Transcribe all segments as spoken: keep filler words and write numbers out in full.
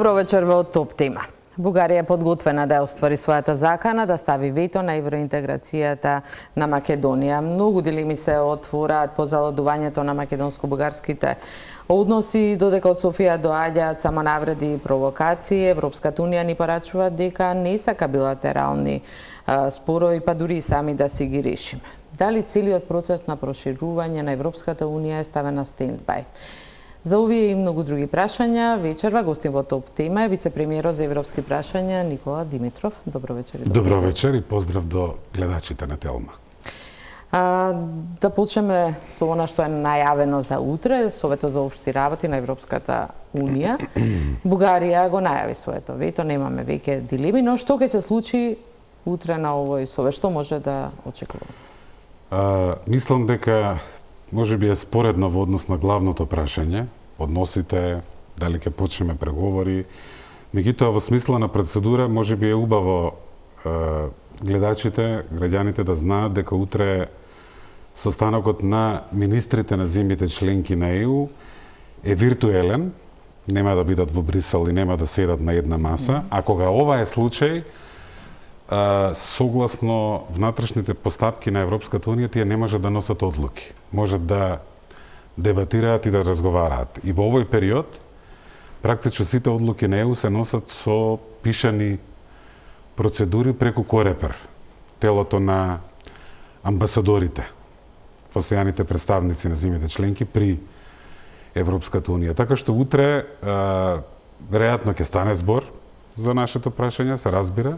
Добро вечер во Топ тема. Бугарија е подготвена да оствари својата закана да стави вето на евроинтеграцијата на Македонија. Многу дилеми се отвораат по залудувањето на македонско-бугарските односи, додека од Софија доаѓаат само навреди и провокации. Европската унија ни порачува дека не сака билатерални а, спорови, па дури и сами да си ги решиме. Дали целиот процес на проширување на Европската унија е ставен на стендбај? За овие и многу други прашања, вечерва гостин во Топ тема е вице-премиерот за европски прашања Никола Димитров. Добро вечер. Добро, добро вечер и поздрав до гледачите на Телма. А, да почнеме со она што е најавено за утре, Советот за општи работи на Европската унија. Бугарија го најави своето вето, немаме веќе дилеми, но што ќе се случи утре на овој совет, што може да очекуваме? А, мислам дека може би е споредно во однос на главното прашање, односите, дали ќе почнеме преговори. Меѓутоа, во смисла на процедура, може би е убаво е, гледачите, граѓаните да знаат дека утре состанокот на министрите на земјите членки на Е У е виртуелен, нема да бидат во Брисел и нема да седат на една маса, а кога ова е случај, согласно внатрешните постапки на Европската унија, тие не можат да носат одлуки. Можат да дебатираат и да разговараат. И во овој период, практично сите одлуки на Е У се носат со пишани процедури преку Корепер, телото на амбасадорите, постојаните представници на земјите членки при Европската унија. Така што утре, веројатно ќе стане збор за нашето прашање, се разбира.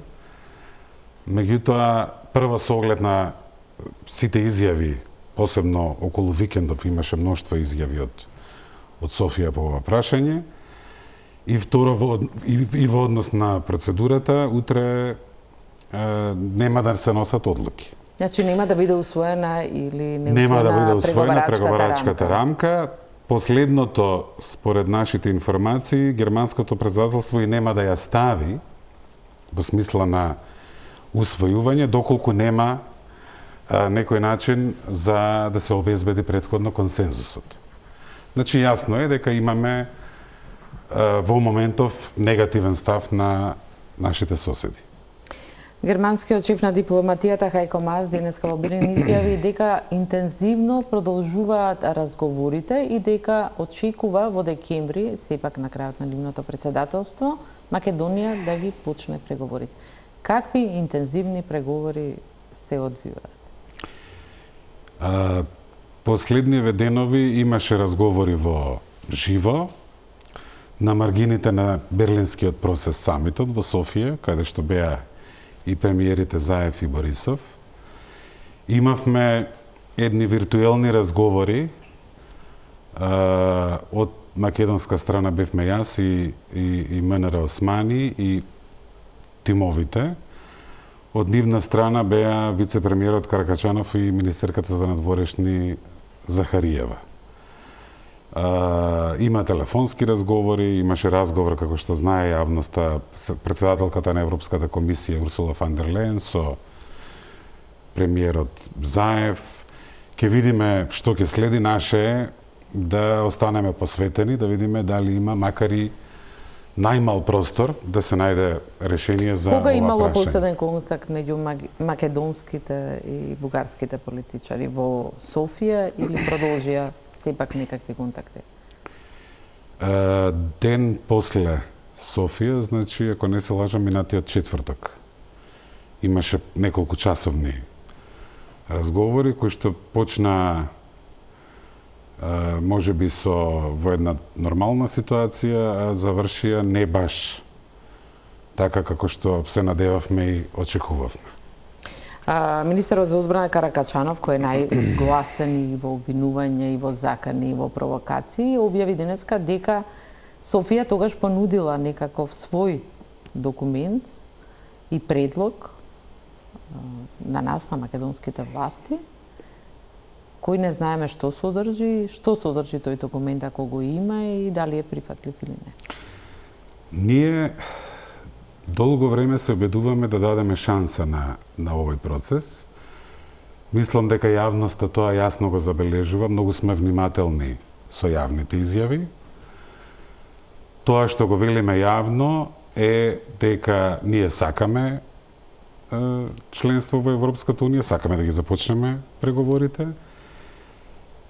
Меѓутоа, прво со оглед на сите изјави, посебно околу викендов имаше мноштво изјави од, од Софија по ова прашање, и второ, во, и, и во однос на процедурата, утре е, нема да се носат одлуки. Значи нема да биде усвоена или не усвоена, нема да биде усвоена преговарачката рамка. рамка. Последното, според нашите информации, германското председателство и нема да ја стави во смисла на усвојување, доколку нема а, некој начин за да се обезбеди претходно консензусот. Значи, јасно е дека имаме а, во моментов негативен став на нашите соседи. Германскиот шеф на дипломатијата Хајко Маас денеска во Билин изјави дека интензивно продолжуваат разговорите и дека очекува во декември, сепак на крајот на нивното председателство, Македонија да ги почне преговорите. Какви интензивни преговори се одвиваат? Последниве денови имаше разговори во живо на маргините на Берлинскиот процес самитот во Софија, каде што беа и премиерите Заев и Борисов. Имавме едни виртуелни разговори. А, од македонска страна бевме јас и, и, и Менера Османи и тимовите. Од нивна страна беа вице-премиерот Каракачанов и министерката за надворешни Захариева. А, има телефонски разговори, имаше разговор, како што знае јавноста, председателката на Европската комисија Урсула фон дер Лејен со премиерот Заев. Ке видиме што ќе следи. Наше е да останеме посветени, да видиме дали има макар и најмал простор да се најде решение за ова прашање. Кога имало последен контакт меѓу македонските и бугарските политичари во Софија или продолжија сепак некакви контакти? Uh, ден после Софија, значи, ако не се лажам, минатиот четврток. Имаше неколку часовни разговори кои што почна Uh, може би со во една нормална ситуација, а завршија не баш така како што се надевавме и очекувавме. А, министерот за одбрана Каракачанов, кој е најгласен и во обвинување, и во закани, и во провокации, објави денеска дека Софија тогаш понудила некаков свој документ и предлог а, на нас, на македонските власти, кој не знаеме што содржи, што содржи тој документ ако го има и дали е прифатлив или не. Ние долго време се обидуваме да дадеме шанса на, на овој процес. Мислам дека јавноста тоа јасно го забележува, многу сме внимателни со јавните изјави. Тоа што го велиме јавно е дека ние сакаме членство во Европската унија, сакаме да ги започнеме преговорите.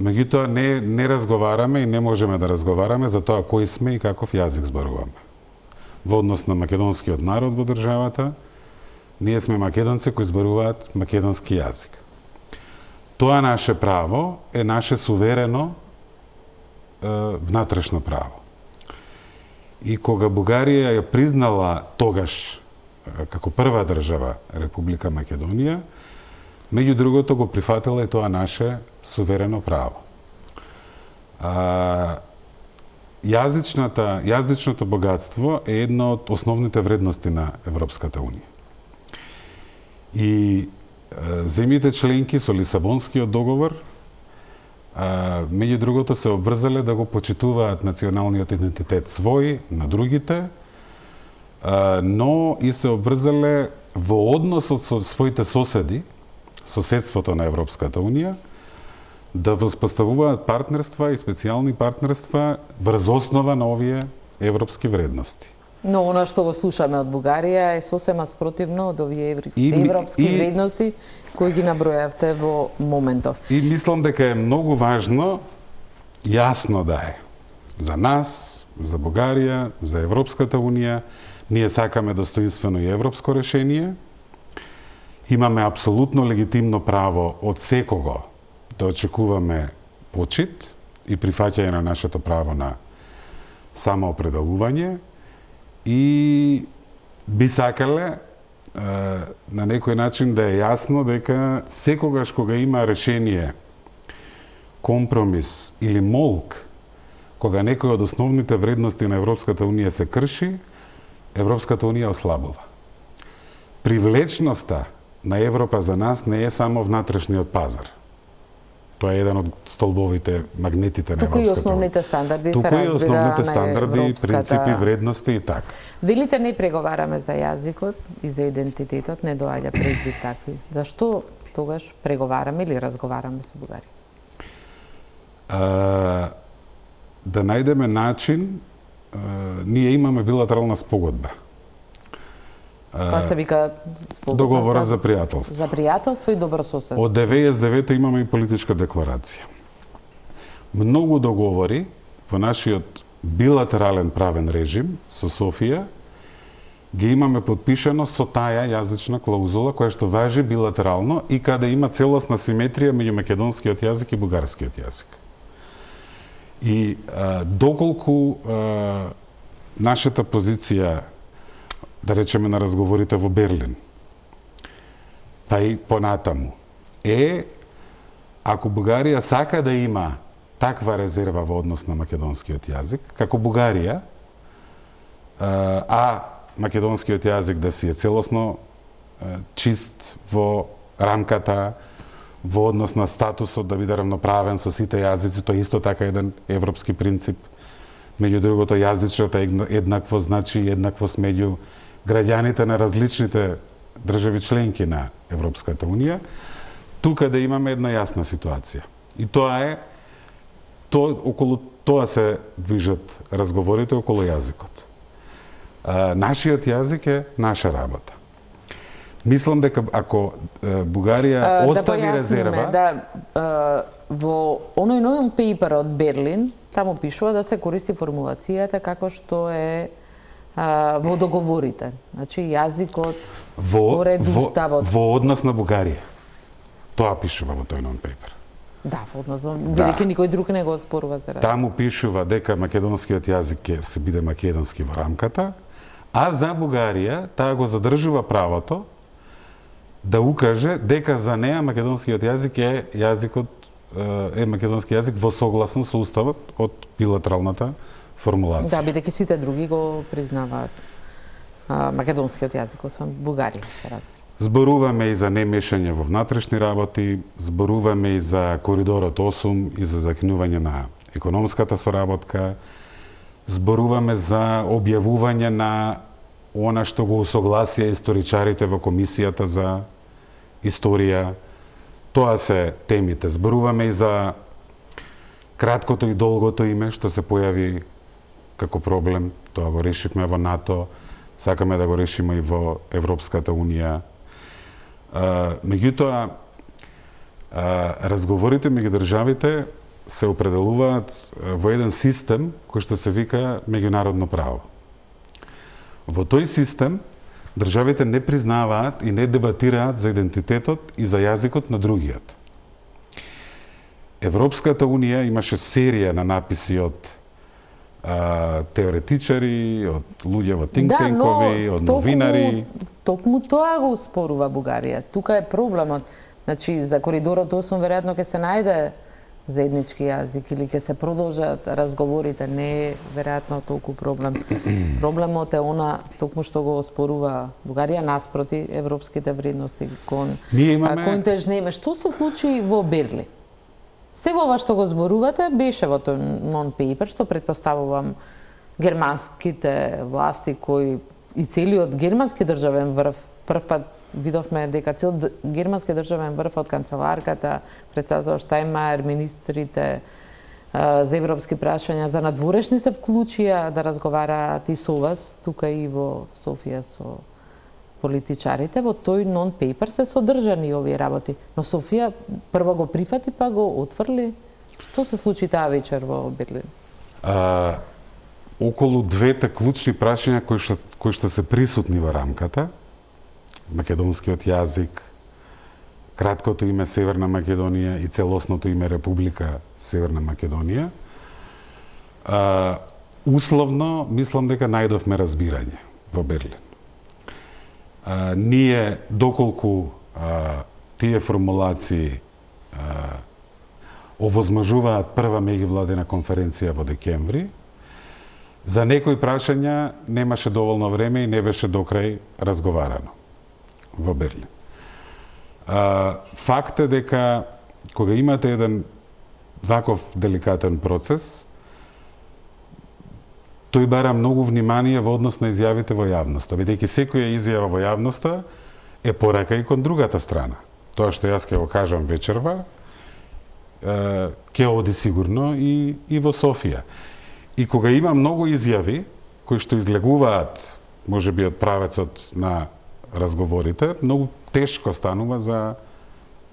Меѓутоа не не разговараме и не можеме да разговараме за тоа кој сме и каков јазик зборуваме. Во однос на македонскиот народ во државата, ние сме македонци кои зборуваат македонски јазик. Тоа наше право е наше суверено е, внатрешно право. И кога Бугарија ја признала тогаш како прва држава Република Македонија, меѓу другото го прифатила и тоа наше суверено право. А, јазичната, јазичното богатство е една од основните вредности на Европската унија. И а, земјите членки со Лисабонскиот договор а, меѓу другото се обврзале да го почитуваат националниот идентитет свој на другите, а, но и се обврзале во односот со своите соседи, соседството на Европската унија, да воспоставуваат партнерства и специјални партнерства врз основа на овие европски вредности. Но она што го слушаме од Бугарија е сосема спротивно од овие еври... И, европски и, вредности кои ги набројавте во моментов. И мислам дека е многу важно јасно да е за нас, за Бугарија, за Европската унија, ние сакаме достоинствено и европско решение. Имаме апсолутно легитимно право од секого да очекуваме почит и прифаќање на нашето право на самоопределување и би сакале на некој начин да е јасно дека секогаш кога има решение, компромис или молк, кога некој од основните вредности на Европската унија се крши, Европската унија ослабува. Привлечноста на Европа за нас не е само внатрешниот пазар. Тоа е еден од столбовите, магнетите на Европската унија. Туку и основните стандарди Туку се разбира и основните стандарди, европската... принципи, вредности и така. Велите не преговараме за јазикот и за идентитетот, не доаѓа предвид такви. Зашто тогаш преговараме или разговараме со Бугарија? А, да најдеме начин, а, ние имаме билатерална спогодба. Тоа се вика спогодба договора за, за пријателство. За пријателство и добрососедство. Од деветдесет и девета имаме и политичка декларација. Многу договори во нашиот билатерален правен режим со Софија ги имаме подпишано со таа јазична клаузула која што важи билатерално и каде има целосна симетрија меѓу македонскиот јазик и бугарскиот јазик. И а, доколку а, нашата позиција, да речеме на разговорите во Берлин, па и понатаму, е ако Бугарија сака да има таква резерва во однос на македонскиот јазик, како Бугарија, а македонскиот јазик да си е целосно чист во рамката, во однос на статусот да биде равноправен со сите јазици, тоа исто така еден европски принцип. Меѓу другото, јазичната еднакво значи еднаквост меѓу граѓаните на различните држави членки на Европската унија, тука да имаме една јасна ситуација. И тоа е, то, околу тоа се движат разговорите околу јазикот. А, нашиот јазик е наша работа. Мислам дека ако е, Бугарија а, остави да резерва... Да, а, во оној новиот пейпер од Берлин, таму пишува да се користи формулацијата како што е а, во договорите. Значи, јазикот според уставот. Во однос на Бугарија. Тоа пишува во тој нон-пейпер. Да, во однос, бидејќи да. Никој друг не го спорува за разлика. Таму пишува дека македонскиот јазик ќе се биде македонски во рамката, а за Бугарија таа го задржува правото да укаже дека за неа македонскиот јазик е јазикот е македонски јазик во согласно со уставот од билатералната формулација. Да, бидејќи сите други го признаваат а, македонскиот јазик, освен Бугарија, се разбира. Зборуваме и за немешање во внатрешни работи, зборуваме и за коридорот осум и за закинување на економската соработка, зборуваме за објавување на она што го усогласија историчарите во комисијата за историја. Тоа се темите. Зборуваме и за краткото и долгото име што се појави како проблем, тоа го решивме во НАТО, сакаме да го решиме и во Европската Унија. Меѓутоа, разговорите меѓу државите се определуваат во еден систем кој што се вика меѓународно право. Во тој систем државите не признаваат и не дебатираат за идентитетот и за јазикот на другиот. Европската Унија имаше серија на написи од а, теоретичари, од луѓе во think-танкови, од новинари. Токму тоа го успорува Бугарија. Тука е проблемот. Значи, за коридорот осум веројатно ќе се најде заеднички јазик или ќе се продолжат разговорите, не е веројатно толку проблем. Проблемот е она токму што го оспорува Бугарија наспроти европските вредности кон имаме... кон тежнеме. Што се случи во Берлин? Сега ова што го зборувате беше во тој non-paper, што предпоставувам германските власти кои и целиот германски државен врв, прв пат видовме дека цел германски државен врв од канцеларката, председател Штајнмајер, министрите а, за европски прашања, за надворешни се вклучија да разговараат и со вас, тука и во Софија со политичарите. Во тој non-paper се содржани овие работи. Но Софија прво го прифати, па го отфрли. Што се случи таа вечер во Берлин? А, околу двете клучни прашања кои што, кои што се присутни во рамката, македонскиот јазик, краткото име Северна Македонија и целосното име Република Северна Македонија, а, условно мислам дека најдовме разбирање во Берлин. А, ние, доколку а, тие формулации а, овозможуваат прва меѓувладина конференција во декември, за некои прашања немаше доволно време и не беше докрај разговарано во Берлин. А, факт е дека кога имате еден ваков деликатен процес, тој бара многу внимание во однос на изјавите во јавноста, бидејќи секоја изјава во јавноста е порака и кон другата страна. Тоа што јас ќе го кажам вечерва, ќе оди сигурно и, и во Софија. И кога има многу изјави кои што излегуваат, можеби од правецот на разговорите, многу тешко станува за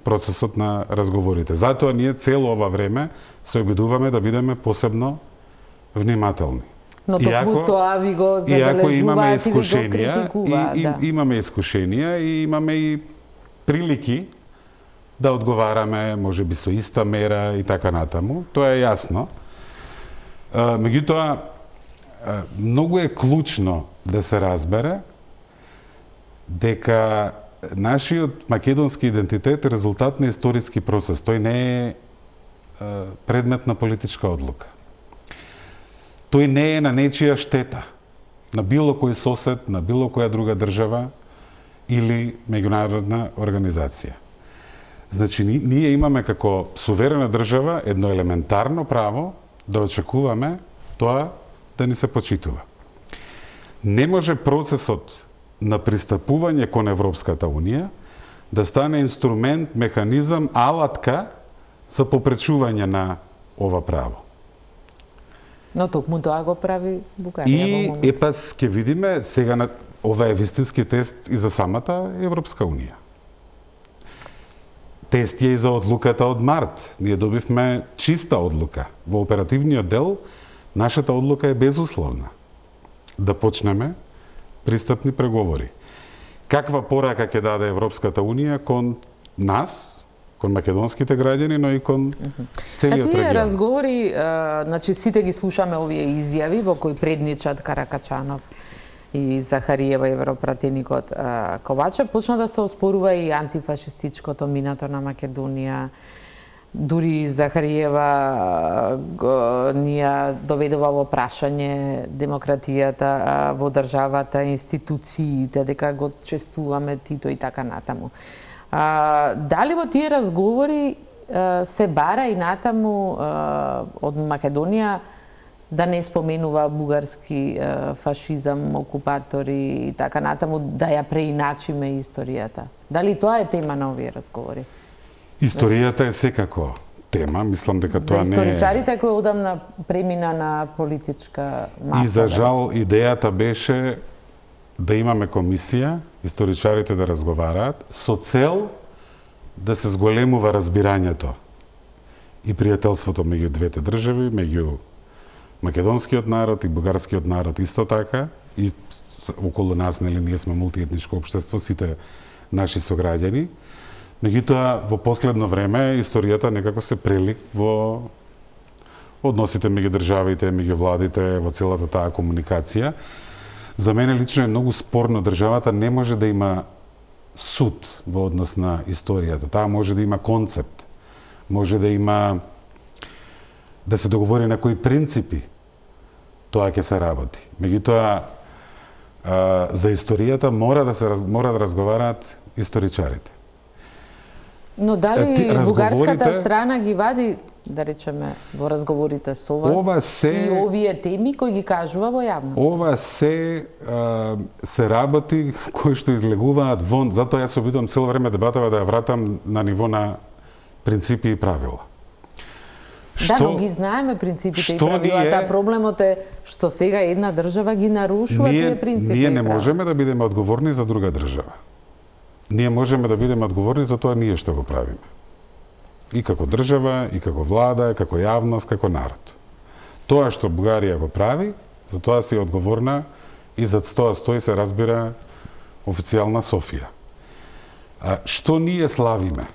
процесот на разговорите. Затоа ние цело ова време се обидуваме да бидеме посебно внимателни. Но токму тоа ви го забележуваат и ви го критикуваат. И, и, да. Имаме искушенија и имаме и прилики да одговараме, можеби со иста мера и така натаму. Тоа е јасно. Меѓутоа, многу е клучно да се разбере дека нашиот македонски идентитет е резултат на историски процес. Тој не е предмет на политичка одлука. Тој не е на нечија штета, на било кој сосед, на било која друга држава или меѓународна организација. Значи, ние имаме како суверена држава едно елементарно право да очекуваме тоа да ни се почитува. Не може процесот на пристапување кон Европската Унија да стане инструмент, механизам, алатка за попречување на ова право. Но токму тоа го прави Бугарија. И епас ќе видиме сега на ова е вистински тест и за самата Европска Унија. Тест е и за одлуката од март. Ние добивме чиста одлука. Во оперативниот дел нашата одлука е безусловна. Да почнеме пристапни преговори. Каква порака ќе даде Европската Унија кон нас, кон македонските граѓани, но и кон целиот регион? Тие разговори, а, значи сите ги слушаме овие изјави во кои предничат Каракачанов и Захариева, европратеникот Ковачев, почна да се оспорува и антифашистичкото минато на Македонија. Дури Захариева ни ја доведува во прашање демократијата во државата, институциите, дека го чествуваме Тито и така натаму. А, дали во тие разговори а, се бара и натаму а, од Македонија да не споменува бугарски а, фашизам, окупатори и така натаму, да ја преиначиме историјата? Дали тоа е тема на овие разговори? Историјата е секако тема, мислам дека тоа не е... За историчарите кои одамна премина на политичка маса. И за жал идејата беше да имаме комисија, историчарите да разговараат, со цел да се зголемува разбирањето и пријателството меѓу двете држави, меѓу македонскиот народ и бугарскиот народ исто така, и околу нас, нели, ние сме мултиетничко општество, сите наши сограѓани. Меѓутоа, во последно време, историјата некако се прелик во односите меѓу државите, меѓу владите, во целата таа комуникација. За мене лично е многу спорно, државата не може да има суд во однос на историјата. Таа може да има концепт, може да има да се договори на кои принципи тоа ќе се работи. Меѓутоа, за историјата мора да се мора да разговараат историчарите. Но дали бугарската страна ги вади, да речеме, во разговорите со вас ова се, и овие теми кои ги кажува во јавност? Ова се а, се работи кои што излегуваат вон, затоа јас се обидувам цело време дебатава да ја вратам на ниво на принципи и правила. Да, што, но ги знаеме принципите и правилата. Ние, проблемот е што сега една држава ги нарушува ние, тие принципи. Ние не можеме да бидеме одговорни за друга држава. Ние можеме да бидеме одговорни за тоа ние што го правиме. И како држава, и како влада, како јавност, како народ. Тоа што Бугарија го прави, за тоа си одговорна и за тоа стои се разбира официјална Софија. А што ние славиме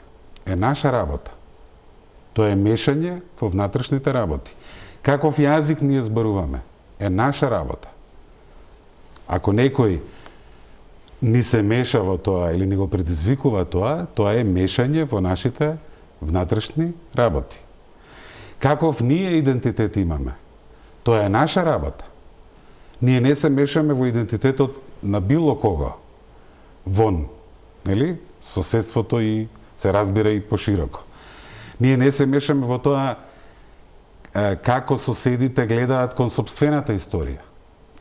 е наша работа. Тоа е мешање во внатрешните работи. Каков јазик ние зборуваме е наша работа. Ако некој ни се меша во тоа или ни го предизвикува тоа, тоа е мешање во нашите внатрешни работи. Каков ние идентитет имаме? Тоа е наша работа. Ние не се мешаме во идентитетот на било кого вон, нели? Соседството и се разбира и пошироко. Ние не се мешаме во тоа е, како соседите гледаат кон сопствената историја.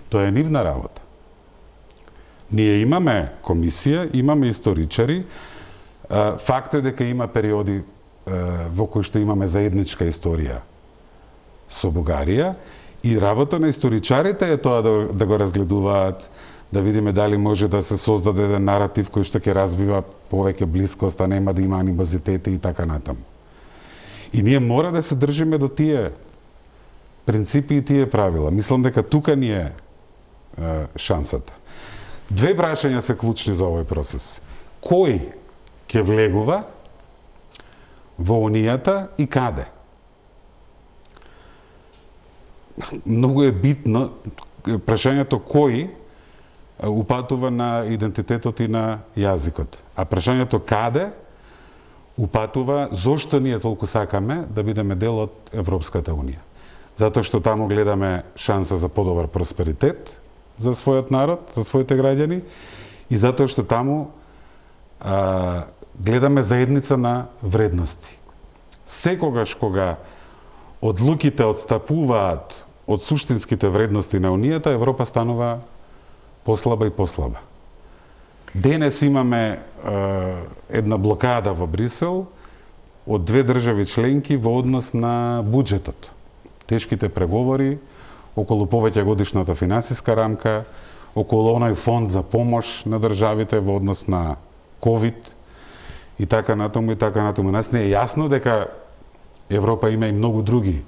Тоа е нивна работа. Ние имаме комисија, имаме историчари. Факт е дека има периоди во кои што имаме заедничка историја со Бугарија и работа на историчарите е тоа да, да го разгледуваат, да видиме дали може да се создаде еден наратив кој што ќе развива повеќе блискост, а нема да има анимозитети и така натаму. И ние мора да се држиме до тие принципи и тие правила. Мислам дека тука ни е, е шансата. Две прашања се клучни за овој процес. Кој ќе влегува во Унијата и каде? Многу е битно прашањето кој упатува на идентитетот и на јазикот. А прашањето каде упатува зошто ние толку сакаме да бидеме дел од Европската Унија. Затоа што таму гледаме шанса за подобар просперитет за својот народ, за своите граѓани, и затоа што таму а, гледаме заедница на вредности. Секогаш кога одлуките отстапуваат од суштинските вредности на Унијата, Европа станува послаба и послаба. Денес имаме а, една блокада во Брисел од две држави членки во однос на буџетот. Тешките преговори околу повеќе годишната финансиска рамка, околу оној фонд за помош на државите во однос на ковид и така натаму и така натаму. Нас не е јасно дека Европа има и многу други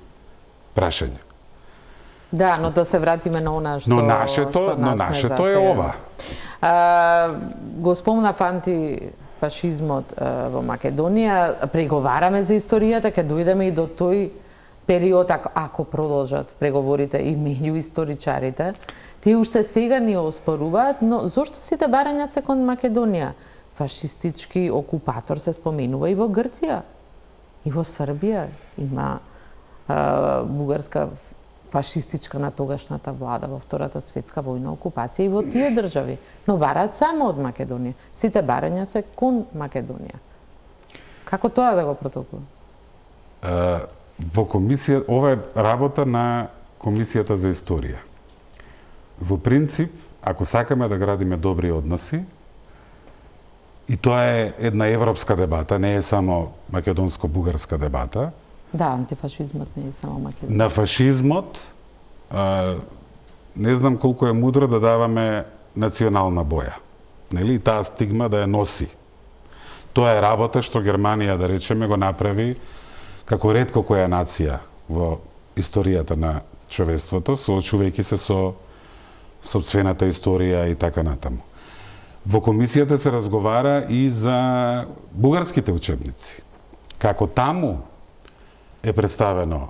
прашања. Да, но да се вратиме на она што Но нашето, што но нашето е ова. А, го спомна антифашизмот во Македонија, преговараме за историјата, ќе дојдеме и до тој период, ако, ако продолжат преговорите и меѓу историчарите, тие уште сега ни оспоруваат, но зошто сите барања се кон Македонија? Фашистички окупатор се споменува и во Грција, и во Србија. Има а, бугарска фашистичка на тогашната влада во Втората светска војна окупација и во тие држави. Но бараат само од Македонија. Сите барања се кон Македонија. Како тоа да го протоколува? Во комисија, ова е работа на Комисијата за историја. Во принцип, ако сакаме да градиме добри односи, и тоа е една европска дебата, не е само македонско-бугарска дебата, Да, антифашизмот не е само Македонија. На фашизмот, а, не знам колку е мудро да даваме национална боја. Нели? Таа стигма да ја носи. Тоа е работа што Германија, да речеме, го направи како ретко која нација во историјата на човештвото, соочувајќи се со сопствената историја и така натаму. Во комисијата се разговара и за бугарските учебници. Како таму е представено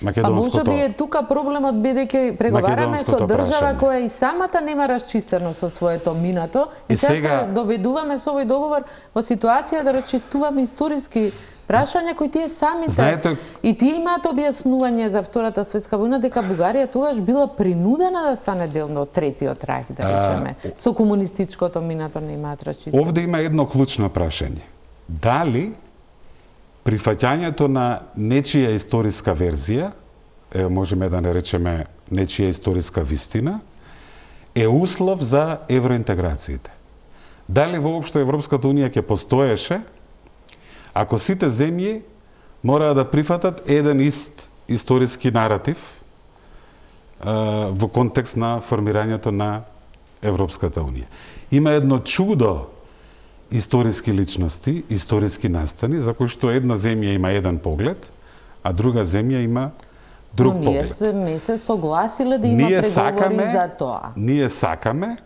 македонското... А може би е тука проблемот, бидејќи преговараме со држава прашање. која и самата нема расчистено со своето минато и, И сега сега се доведуваме со овој договор во ситуација да расчистуваме историски прашања кои тие самите Знаете... и тие имаат објаснување за Втората светска војна дека Бугарија тогаш била принудена да стане дел од Третиот рајх, да речеме. А... Со комунистичкото минато не имаат расчистено. Овде има едно клучно прашање. Дали прифаќањето на нечија историска верзија, е, можеме да наречеме нечија историска вистина, е услов за евроинтеграциите? Дали воопшто Европската Унија ќе постоеше ако сите земји мора да прифатат еден ист историски наратив а, во контекст на формирањето на Европската Унија? Има едно чудо историски личности, историски настани, за кои што една земја има еден поглед, а друга земја има друг Но ние поглед. се, не се согласиле да има ние преговори сакаме, за тоа. Ние сакаме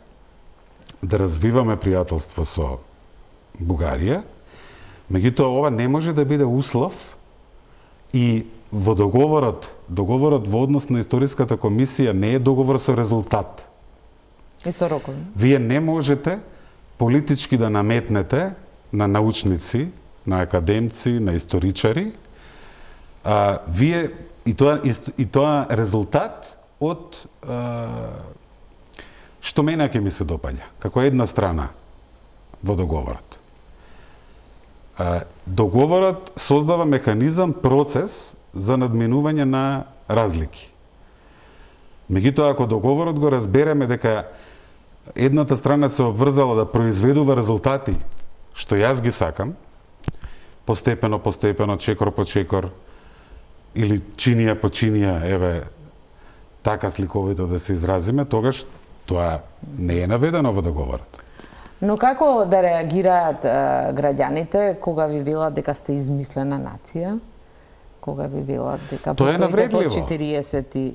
да развиваме пријателство со Бугарија, меѓутоа ова не може да биде услов и во договорот, договорот во однос на историската комисија не е договор со резултат. И со рокови. Вие не можете политички да наметнете на научници, на академци, на историчари, а, вие и тоа и тоа резултат од а, што мене ќе ми се допаѓа, како една страна во договорот. А, договорот создава механизам, процес за надминување на разлики. Меѓутоа, ако договорот го разбереме дека едната страна се обврзала да произведува резултати, што јас ги сакам, постепено, постепено, чекор по чекор, или чинија по чинија, еве, така сликовито да се изразиме, тогаш тоа не е наведено во договорот. Но како да реагираат е, граѓаните кога ви велат дека сте измислена нација? Кога ви велат дека Тоа е навредливо. по четириесет и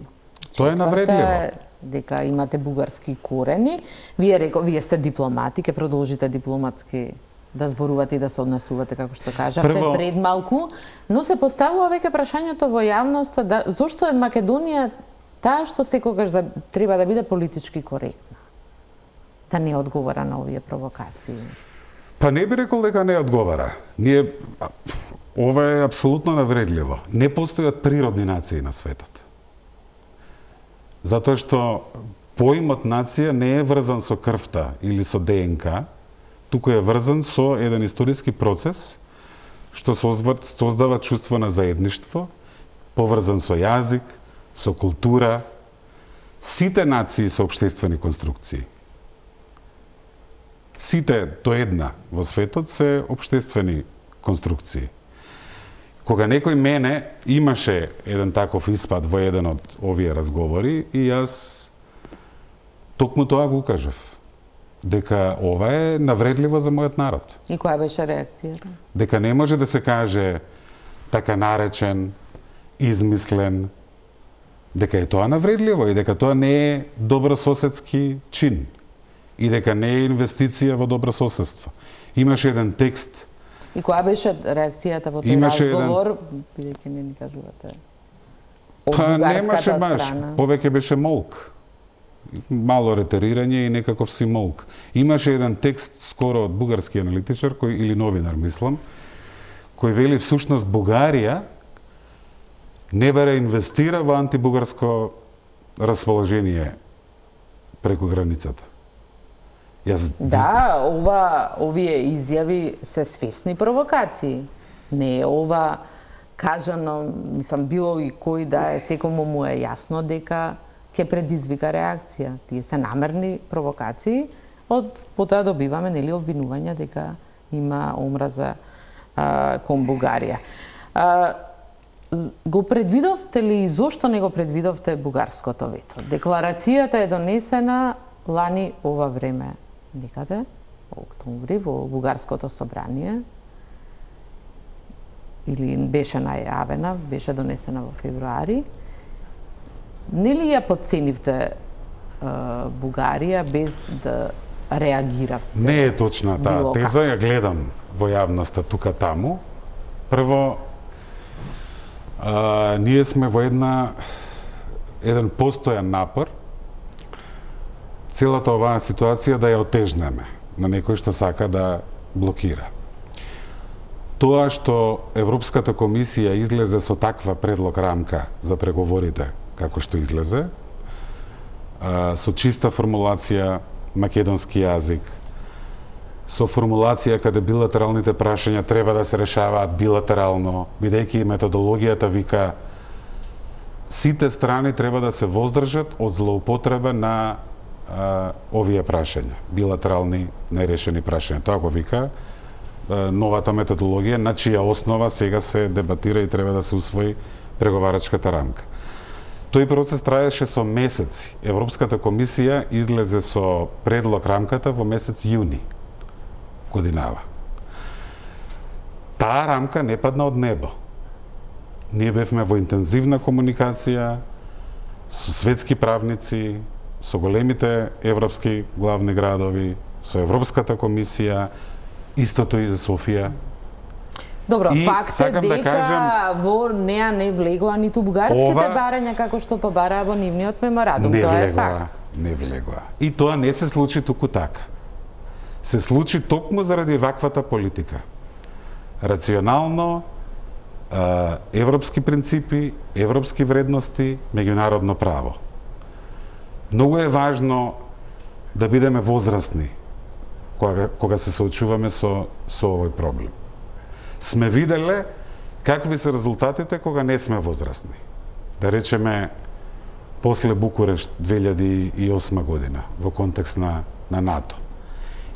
Тоа е навредливо. дека имате бугарски корени. Вие реко, вие сте дипломати, ќе продолжите дипломатски да зборувате и да се однесувате, како што кажавте, Прво... пред малку, но се поставува веќе прашањето во јавноста да, зошто е Македонија таа што секогаш да, треба да биде политички коректна, да не одговара на овие провокации? Па не би рекол дека не одговара. Ние, ова е апсолутно навредливо. Не постојат природни нации на светот. Затоа што поимот нација не е врзан со крвта или со ДНК, туку е врзан со еден историски процес што создава чувство на заедништво, поврзан со јазик, со култура. Сите нации се општествени конструкции. Сите до една во светот се општествени конструкции. Кога некој мене имаше еден таков испад во еден од овие разговори и јас токму тоа го кажав, дека ова е навредливо за мојот народ. И која беше реакцијата? Дека не може да се каже така наречен, измислен, дека е тоа навредливо и дека тоа не е добрососедски чин и дека не е инвестиција во добро соседство. Имаше еден текст. И која беше реакцијата во тој Имаше разговор, бидејќи не ни кажувате? Од Па немаше бугарската баш, страна. повеќе беше молк. Мало ретерирање и некаков си молк. Имаше еден текст скоро од бугарски аналитичар кој или новинар, мислам, кој вели всушност Бугарија не баре инвестира во антибугарско расположение преку границата. Јас Да, ова, овие изјави се свесни провокации. Не е ова кажано, мислам, било и кој да е, секому му е јасно дека ќе предизвика реакција. Тие се намерни провокации, од потоа добиваме нели обвинувања дека има омраза а, кон Бугарија. А, го предвидовте ли и зошто не го предвидовте бугарското вето? Декларацијата е донесена лани ова време некаде, во октомври, во бугарското собрание, или беше најавена, беше донесена во февруари. Нели ја подценивте Бугарија без да реагиравте? Не е точна таа теза, ја гледам во јавноста тука таму. Прво, а, ние сме во една еден постојан напор целата оваа ситуација да ја отежнеме на некој што сака да блокира. Тоа што Европската комисија излезе со таква предлог рамка за преговорите како што излезе, со чиста формулација македонски јазик, со формулација каде билатералните прашања треба да се решаваат билатерално, бидејќи методологијата вика сите страни треба да се воздржат од злоупотреба на а, овие прашања, билатерални нерешени прашања. Тоа го вика а, новата методологија, на чија основа сега се дебатира и треба да се усвои преговарачката рамка. Тој процес траеше со месеци. Европската комисија излезе со предлог рамката во месец јуни годинава. Таа рамка не падна од небо. Ние бевме во интензивна комуникација со светски правници, со големите европски главни градови, со Европската комисија, истото и за Софија. Добро, и факт е дека да кажем, во неа не влегоа ниту бугарските ова, барања како што побараа во нивниот меморандум. Тоа влегоа, е факт. Не влегоа. И тоа не се случи туку така. Се случи токму заради ваквата политика. Рационално, европски принципи, европски вредности, меѓународно право. Многу е важно да бидеме возрастни кога, кога се соочуваме со, со овој проблем. Сме виделе какви се резултатите кога не сме возрастни. Да речеме, после Букурешт две илјади и осма година, во контекст на, на НАТО.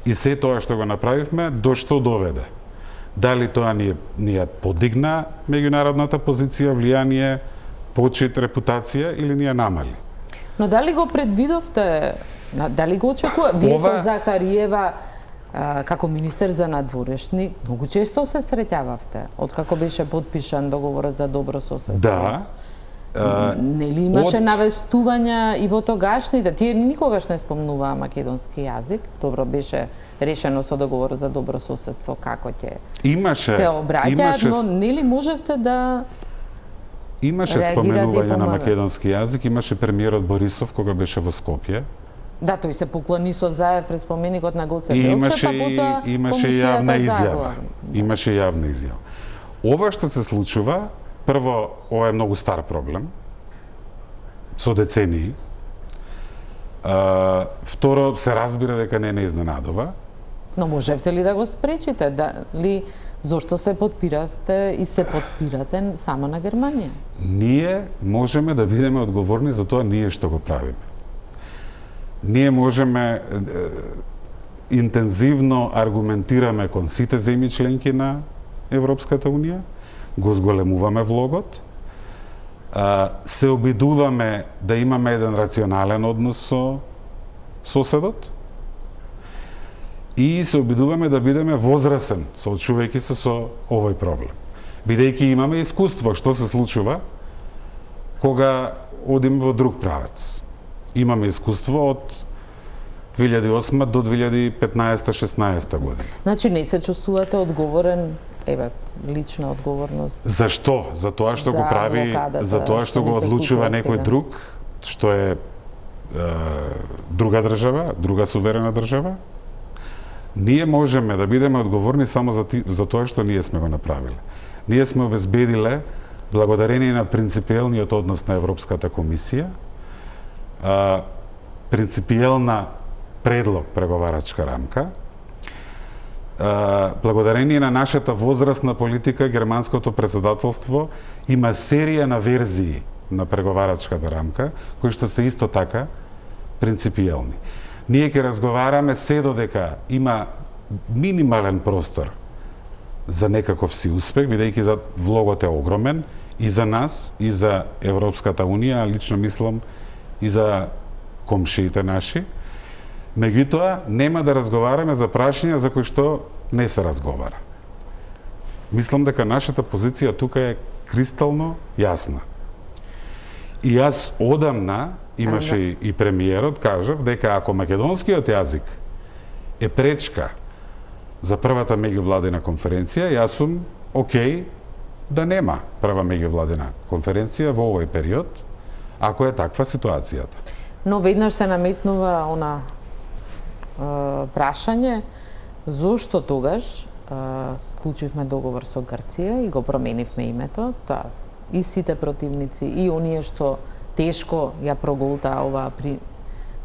И се тоа што го направивме, до што доведе? Дали тоа ни, ни подигна меѓународната позиција, влијание, почит, репутација или ни ја намали? Но дали го предвидовте, дали го очекува? Вие Ова... со Захариева како министер за надворешни, многу често се среќававте, откако беше подпишан договорот за добро соседство. Да. Нели имаше од... навестувања и во тогашните, тие никогаш не спомнуваа македонски јазик, добро беше решено со договорот за добро соседство како ќе имаше, се обраќаат, имаше... но нели можевте да имаше споменување на македонски јазик, имаше премиерот Борисов кога беше во Скопје. Да, тој се поклони со заев пред споменикот на Гоце Делчев, имаше, па потоа имаше јавна изјава. Да. Имаше јавна изјава. Ова што се случува, прво, ова е многу стар проблем, со децении. А, второ, се разбира дека не не изненадува. Но можевте ли да го спречите? Дали зошто се подпиравте и се подпирате само на Германија? Ние можеме да бидеме одговорни за тоа ние што го правиме. Ние можеме е, интензивно аргументираме кон сите земји членки на Европската Унија, го зголемуваме влогот, а, се обидуваме да имаме еден рационален однос со соседот и се обидуваме да бидеме возрасен, соочувајќи се со овој проблем. Бидејќи имаме искуство што се случува кога одиме во друг правец. Имаме искуство од две илјади и осма до две илјади и петнаесета шеснаесета година. Значи не се чувствувате одговорен, еве, лична одговорност. Зашто? За тоа што за го прави, за тоа што, што го одлучува некој сега. Друг, што е, е друга држава, друга суверена држава. Ние можеме да бидеме одговорни само за, ти, за тоа што ние сме го направиле. Ние сме обезбедиле, благодарение на принципиелниот однос на Европската комисија, а, принципиелна предлог преговарачка рамка. А, благодарение на нашата возрастна политика, германското председателство има серија на верзии на преговарачката рамка, кои што се исто така принципиелни. Ние ќе разговараме се додека има минимален простор за некаков си успех, бидејќи за влогот е огромен и за нас, и за Европската Унија, лично мислам и за комшиите наши. Меѓутоа, нема да разговараме за прашања за кои што не се разговара. Мислам дека нашата позиција тука е кристално јасна. И јас одамна, имаше и, и премиерот, кажав, дека ако македонскиот јазик е пречка за првата меѓувладина конференција, јас сум окей да нема прва меѓувладина конференција во овој период, ако е таква ситуацијата. Но веднаш се наметнува она е, прашање, зошто тогаш е, склучивме договор со Грција и го променивме името, тоа и сите противници, и оние што тешко ја проголтаа оваа при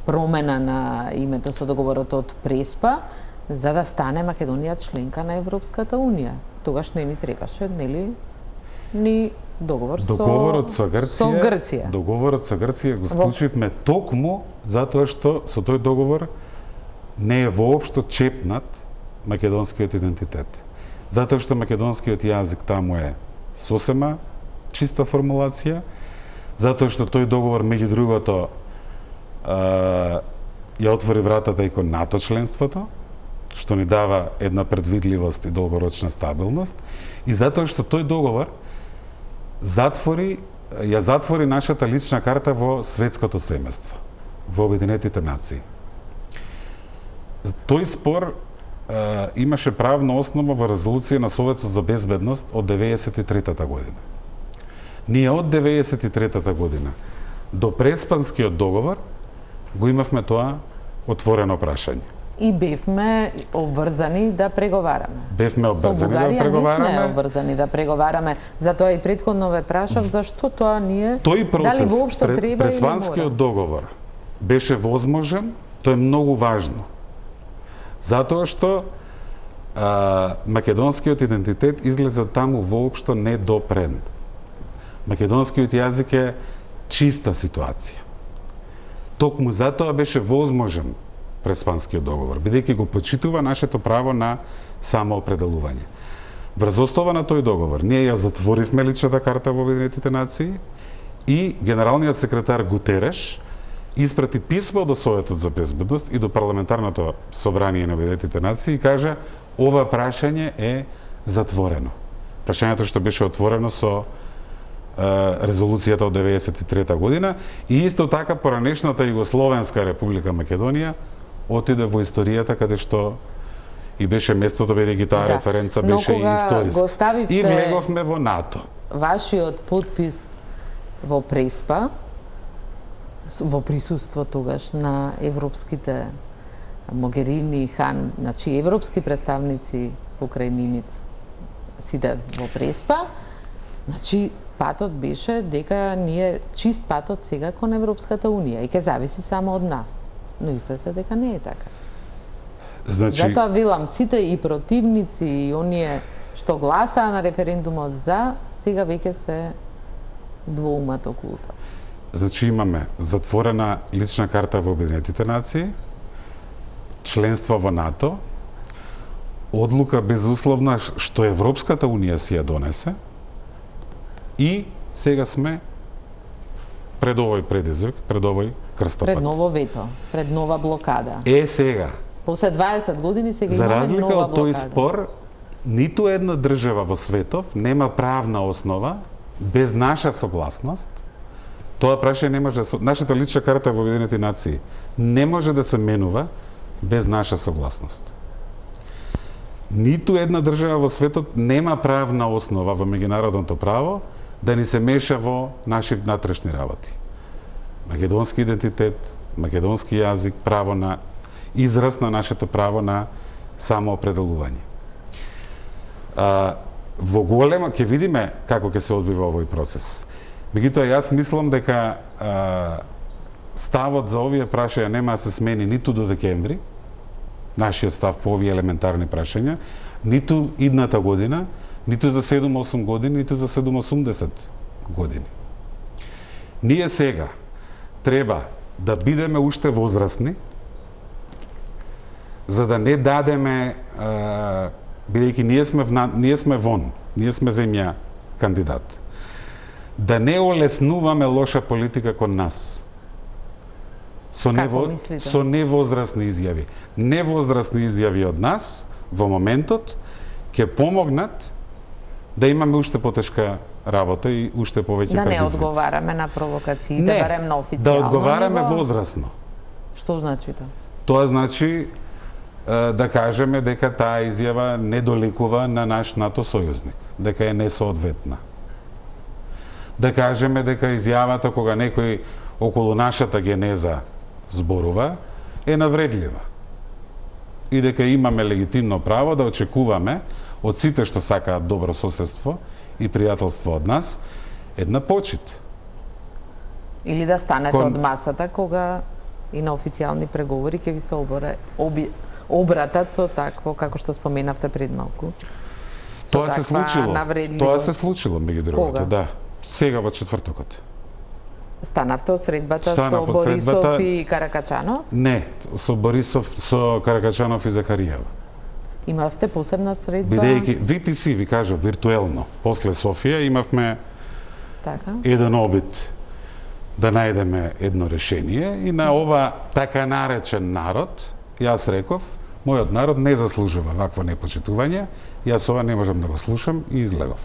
промена на името со договорот од Преспа, за да стане Македонија членка на Европската Унија. Тогаш не ни требаше, нели, ни договор Договорот со, со Грција, со Грција. Договорот со Грција го склучивме токму затоа што со тој договор не е воопшто чепнат македонскиот идентитет. Затоа што македонскиот јазик таму е сосема чиста формулација, затоа што тој договор, меѓу другото, ја отвори вратата и кон НАТО членството, што ни дава една предвидливост и долгорочна стабилност, и затоа што тој договор затвори, ја затвори нашата лична карта во светското семејство, во Обединетите нации. Тој спор е, имаше правна основа во резолуција на Советот за безбедност од деветдесет и трета година. Ние од деветдесет и трета година до Преспанскиот договор го имавме тоа отворено прашање. И бевме обврзани да преговараме. Бевме обврзани да преговараме. Не сме обврзани да преговараме. Затоа и претходно ве прашав зашто тоа ние тој процес, дали воопшто пред, треба Преспанскиот договор беше возможен, тоа е многу важно. Затоа што а, македонскиот идентитет излезе од таму воопшто недопрен. Македонскиот јазик е чиста ситуација. Токму затоа беше возможен Преспанскиот договор, бидејќи го почитува нашето право на самоопределување. Врз основа на тој договор, ние ја затворивме личната карта во Обединетите нации и генералниот секретар Гутереш испрати писмо до Советот за безбедност и до парламентарното собрание на Обединетите нации и кажа ова прашање е затворено. Прашањето што беше отворено со резолуцијата од деветдесет и трета година и исто така поранешната Југословенска република Македонија отиде во историјата каде што и беше местото, бидејќи таа да, референца беше и историска. И влеговме во НАТО. Вашиот подпис во Преспа, во присуство тогаш на европските Могерини, Хан, значи европски представници покрај Нимиц, сиде во Преспа, значи патот беше дека ние чист патот сега кон Европската Унија и ќе зависи само од нас. Но и се дека не е така. Значи... Затоа велам, сите и противници и оние што гласаа на референдумот за, сега веќе се двоумат околу тоа. Значи имаме затворена лична карта во Обединетите нации, членство во НАТО, одлука безусловна што Европската Унија си ја донесе и сега сме пред овој предизвик, пред овој крстопат. Пред ново вето, пред нова блокада. Е, сега. После дваесет години сега за имаме нова блокада. За разлика од тој спор, ниту една држава во светов нема правна основа без наша согласност. Тоа прашање не може да се... Нашата лична карта во Обединените нации не може да се менува без наша согласност. Ниту една држава во светот нема правна основа во меѓународното право да ни се меша во наши внатрешни работи. Македонски идентитет, македонски јазик, право на израз на нашето право на самоопределување. А, во голема ќе видиме како ќе се одвива овој процес. Меѓутоа јас мислам дека а, ставот за овие прашања нема да се смени ниту до декември, нашиот став по овие елементарни прашања, ниту идната година, ниту за седум-осум години, ниту за седум-осумдесет години. Ние сега треба да бидеме уште возрастни, за да не дадеме, бидејќи ние сме вна, ние сме вон, ние сме земја кандидат. да не олеснуваме лоша политика кон нас. Со нево, со невозрастни изјави. Невозрастни изјави од нас во моментот ќе помогнат да имаме уште потешка работа и уште повеќе да предизвици. Да не одговараме на провокациите, не, барем на официјално да одговараме ниво. возрастно. Што значи тоа? Тоа значи да кажеме дека таа изјава не доликува на наш НАТО сојузник, дека е несоодветна. Да кажеме дека изјавата кога некој околу нашата генеза зборува е навредлива. И дека имаме легитимно право да очекуваме од сите што сакаат добро соседство и пријателство од нас една почит. Или да станете Кон... од масата кога и на официјални преговори ќе ви се обора, оби, обратат со такво како што споменавте пред малку. Тоа се случило. Тоа се случило меѓу другото, да. Сега во четвртокот. Станавте од средбата Станав со од Борисов средбата... и Каракачанов? Не, со Борисов, со Каракачанов и Захариева. Имавте посебна средба? Бидејќи ви ти си, ви кажав, виртуелно, после Софија имавме така? еден обид да најдеме едно решение и на ова така наречен народ, јас реков, мојот народ не заслужува вакво непочитување, јас ова не можам да го слушам и излегов.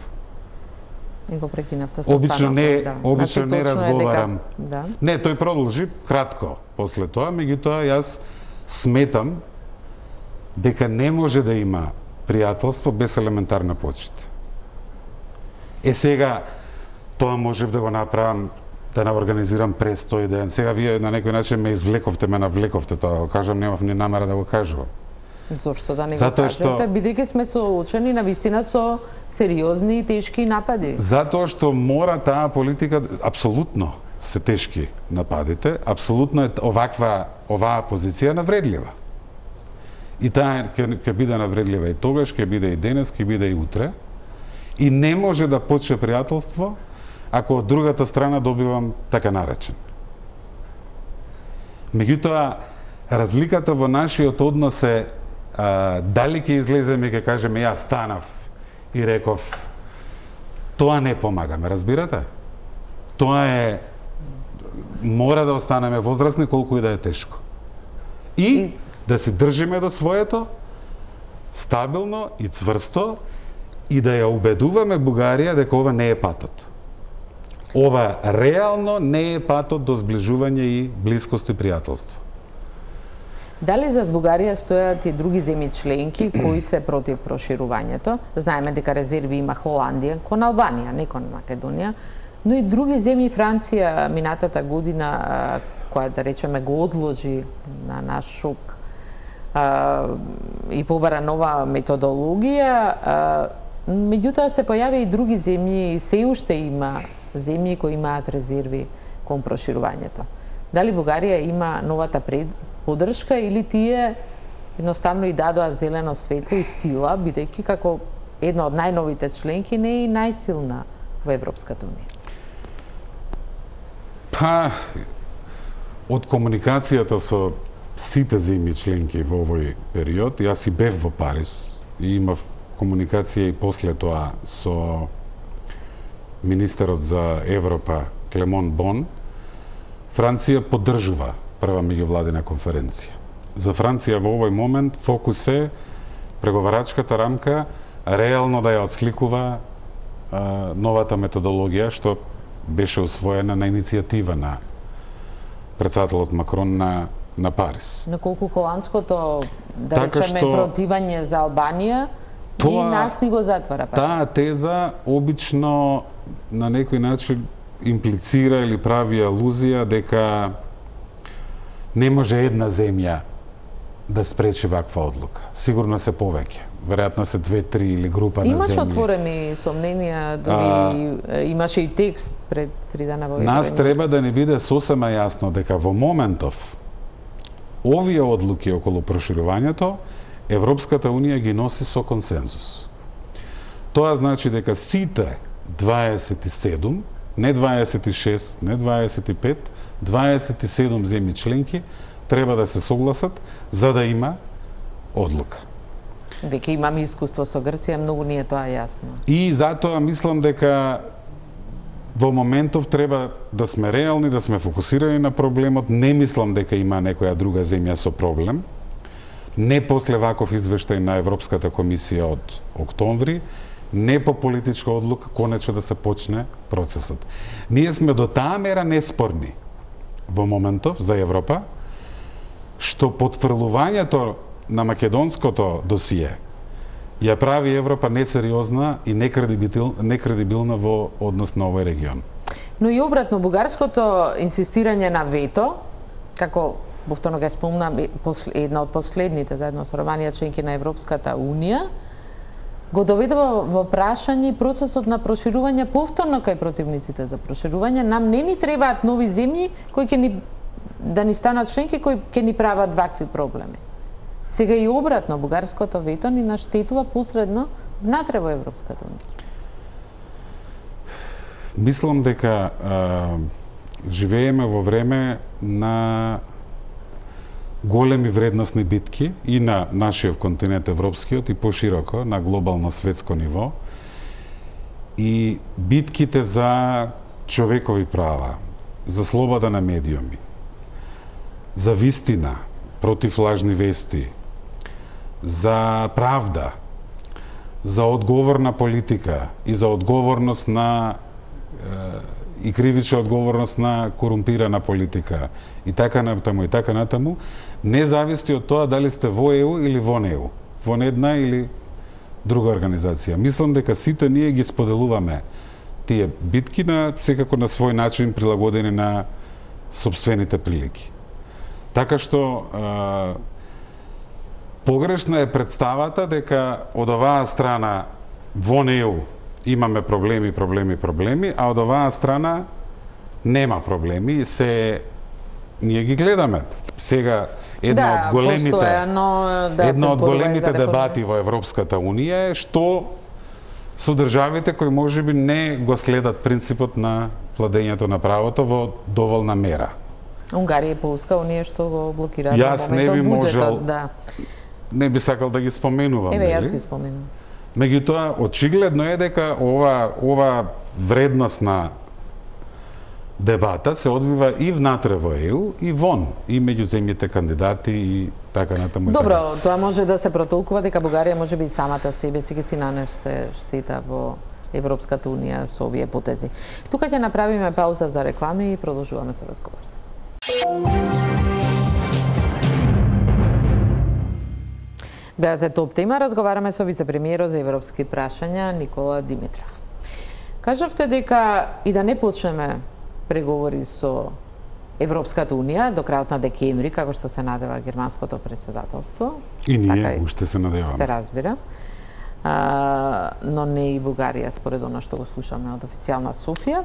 И го прекинавте со Обично не, да. обично значи, не разговарам. Дека... Да. Не, тој продолжи кратко после тоа, меѓутоа јас сметам дека не може да има пријателство без елементарна почит. Е сега тоа можев да го направам, да не организирам престој ден. Сега вие на некој начин ме извлековте, ме навлековте тоа, го кажам, немав ни намера да го кажувам. Зошто да не го Затоа кажете, што... бидејќи сме соочени на вистина со сериозни и тешки напади? Затоа што мора таа политика, апсолутно се тешки нападите, апсолутно е оваква, оваа позиција навредлива. И таа ќе, ќе биде навредлива и тогаш, ќе биде и денес, ќе биде и утре. И не може да почне пријателство ако од другата страна добивам така наречен. Меѓутоа, разликата во нашиот однос е а, дали ќе излеземе и ќе кажеме јас станав и реков тоа не помагаме, разбирате? Тоа е мора да останеме возрастни колку и да е тешко. И, и... да се држиме до своето стабилно и цврсто и да ја убедуваме Бугарија дека ова не е патот. Ова реално не е патот до зближување и блискост и пријателство. Дали зад Бугарија стојат и други земји членки кои се против проширувањето? Знаеме дека резерви има Холандија кон Албанија, не кон Македонија, но и други земји, Франција минатата година, која да речеме го одложи на наш шок и побара нова методологија, меѓутоа се појави и други земји, и се уште има земји кои имаат резерви кон проширувањето. Дали Бугарија има новата пред поддршка или тие едноставно и дадоа зелено светло и сила, бидејќи како една од најновите членки не е и најсилна во Европската унија? Па, од комуникацијата со сите земји членки во овој период, јас и бев во Париз и имав комуникација и после тоа со министерот за Европа Клемон Бон. Франција поддржува прва меѓувладина конференција. За Франција во овој момент фокус е преговарачката рамка реално да ја отсликува а, новата методологија што беше усвоена на иницијатива на председателот Макрон на на Париз. На колку холандското, да така речеме, што, противање за Албанија тоа, и нас ни го затвара. Па. Таа теза обично на некој начин имплицира или прави алузија дека не може една земја да спречи ваква одлука. Сигурно се повеќе. Веројатно се две, три или група на земји. Имаше отворени сомненија, дори а, имаше и текст пред три дена во Нас треба да не биде сосема јасно дека во моментов овие одлуки околу проширувањето Европската унија ги носи со консензус. Тоа значи дека сите дваесет и седум, не дваесет и шест, не дваесет и пет, дваесет и седум земји членки треба да се согласат за да има одлука. Веќе имаме искуство со Грција, многу ни е тоа јасно. И затоа мислам дека Во моментов треба да сме реални, да сме фокусирани на проблемот. Не мислам дека има некоја друга земја со проблем. Не после ваков извештај на Европската комисија од октомври, не по политичка одлука, конечно да се почне процесот. Ние сме до таа мера неспорни во моментов за Европа, што потврлувањето на македонското досие ја прави Европа несериозна и некредибил, некредибилна во однос на овој регион. Но и обратно, бугарското инсистирање на вето, како повторно га спомна, една од последните, заедно со Романија, членки на Европската Унија, го доведува во прашање процесот на проширување повторно кај противниците за проширување. Нам не ни требаат нови земји кои ќе ни да ни станат членки кои ќе ни прават вакви проблеми. Сега и обратно, бугарското вето ни наштетува посредно внатре во Европската Унија. Мислам дека а, живееме во време на големи вредносни битки и на нашиот континент европскиот и пошироко на глобално светско ниво. И битките за човекови права, за слобода на медиуми, за вистина, против лажни вести, за правда, за одговорна политика и за одговорност на и кривична одговорност на корумпирана политика и така натаму и така натаму, не зависи од тоа дали сте во Е У или во Е У, во една или друга организација. Мислам дека сите ние ги споделуваме тие битки на секако на свој начин прилагодени на сопствените прилики. Така што а, погрешна е представата дека од оваа страна во Е У имаме проблеми, проблеми, проблеми, а од оваа страна нема проблеми, се ние ги гледаме. Сега една да, од големите постојано, да, една од големите дебати во Европската Унија е што со државите кои можеби не го следат принципот на владењето на правото во доволна мера. Унгарија и Полска, оние што го блокираат во Јас не би моментот можел, буџетот, да. Не би сакал да ги споменувам. Еве, јас нели? ги споменувам. Меѓутоа, очигледно е дека ова, ова вредносна дебата се одвива и внатре во Е У и вон, и меѓу земјите кандидати и така натаму. Добро, тоа може да се протолкува дека Бугарија може би самата себе си ќе си нанесе штета во Европската Унија со овие потези. Тука ќе направиме пауза за реклами и продолжуваме со разговор. Гледате Топ тема, разговараме со вице-премиерот за европски прашања Никола Димитров. Кажавте дека и да не почнеме преговори со Европската Унија до крајот на декември, како што се надева германското председателство. И ние така, уште се надеваме. Се разбира. А, но не и Бугарија, според она што го слушаме од официјална Софија.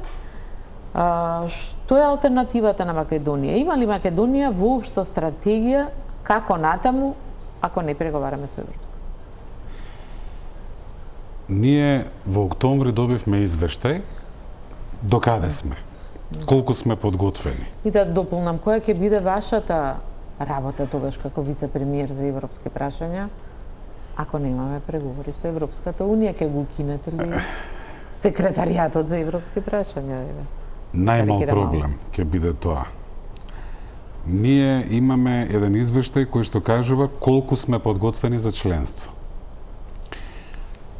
А, што е алтернативата на Македонија? Има ли Македонија воопшто стратегија како натаму ако не преговараме со Европската? Ние во октомври добивме извештај до каде сме, колку сме подготвени. И да дополнам, која ќе биде вашата работа тогаш како вице-премиер за европски прашања, ако немаме преговори со Европската Унија, ќе го кинете ли секретаријатот за европски прашања? Најмал проблем ќе биде тоа. Ние имаме еден извештај кој што кажува колку сме подготвени за членство.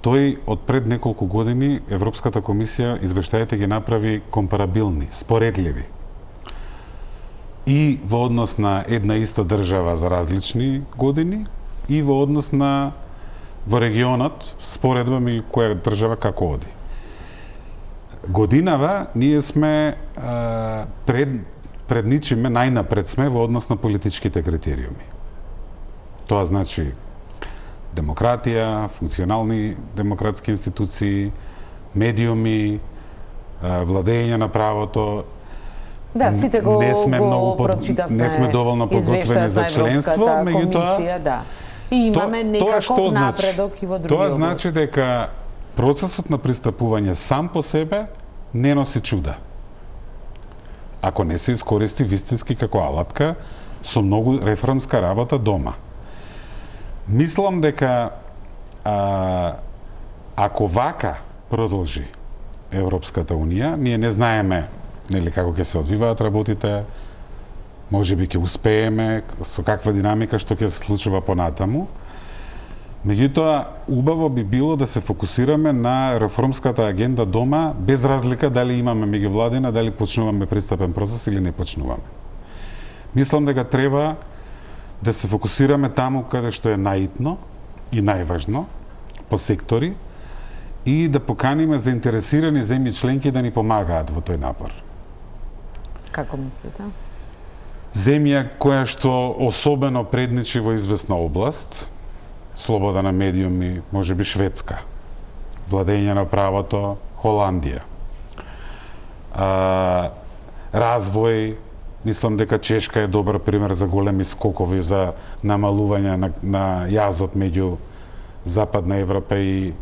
Тој од пред неколку години Европската комисија извештаите ги направи компарабилни, споредливи. И во однос на една иста држава за различни години и во однос на во регионот споредба меѓу која држава како оди. Годинава ние сме а, пред предничиме најнапред сме во однос на политичките критериуми. Тоа значи демократија, функционални демократски институции, медиуми, владење на правото. Да, сите го, не сме го многу под, прочитавме. Не сме доволно подготвени за членство, меѓутоа да. И имаме то, некаков напредок значи? И во други Тоа области. значи дека процесот на пристапување сам по себе не носи чуда. Ако не се искористи вистински како алатка со многу реформска работа дома. Мислам дека а, ако вака продолжи Европската Унија. Ние не знаеме нели како ќе се одвиваат работите, можеби ќе успееме, со каква динамика, што ќе се случува понатаму. Меѓутоа, убаво би било да се фокусираме на реформската агенда дома, без разлика дали имаме меѓувладина, дали почнуваме пристапен процес или не почнуваме. Мислам дека треба да се фокусираме таму каде што е наитно и најважно, по сектори, и да поканиме заинтересирани земји членки да ни помагаат во тој напор. Како мислите? Земја која што особено предничи во известна област, слобода на медиуми, можеби Шведска, владење на правото, Холандија. А, развој, мислам дека Чешка е добар пример за големи скокови за намалување на, на јазот меѓу Западна Европа и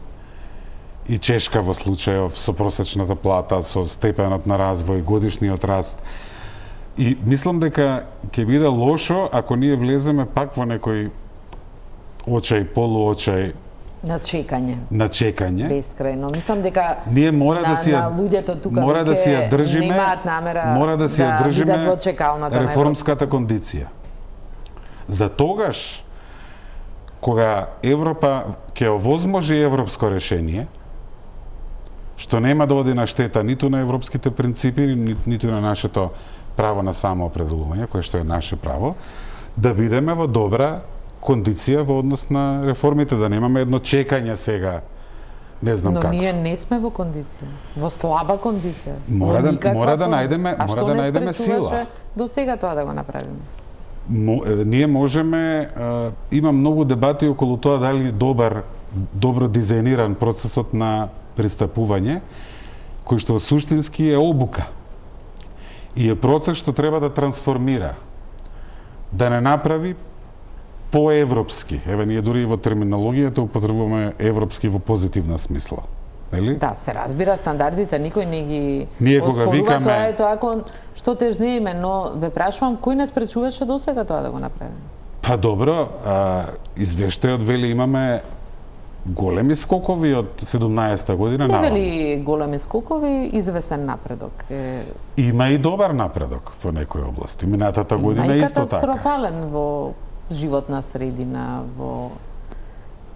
и Чешка во случајов со просечната плата, со степенот на развој, годишниот раст. И мислам дека ќе биде лошо ако ние влеземе пак во некој очај, полуочај на чекање. На чекање. Бескрајно. Мислам дека ние мора на, да си на луѓето тука мора да си ја држиме, немаат намера мора да си ја да држиме бидат во чекалната реформската кондиција. За тогаш кога Европа ќе овозможи европско решение, што нема да оди на штета ниту на европските принципи, ни, ниту на нашето право на самоопределување, кое што е наше право, да бидеме во добра кондиција во однос на реформите, да немаме едно чекање сега, не знам Но како. Но ние не сме во кондиција, во слаба кондиција. Мора да мора да најдеме, а мора да најдеме сила. До сега тоа да го направиме? Мо, ние можеме, а, има многу дебати околу тоа дали добар, добро дизајниран процесот на пристапување, кој што суштински е обука. И е процес што треба да трансформира, да не направи поевропски. Еве, ние дури и во терминологијата употребуваме европски во позитивна смисла. Нели? Да, се разбира стандардите, никој не ги ние кога викаме тоа е тоа кон што тежнееме, но ве прашувам кој не спречуваше досега тоа да го направиме? Па добро, а, извештајот вели имаме големи скокови од седумнаесета година наваму. Не вели големи скокови, извесен напредок. Е... Има и добар напредок во некои области. Минатата година исто така. Има и катастрофален во животна средина, во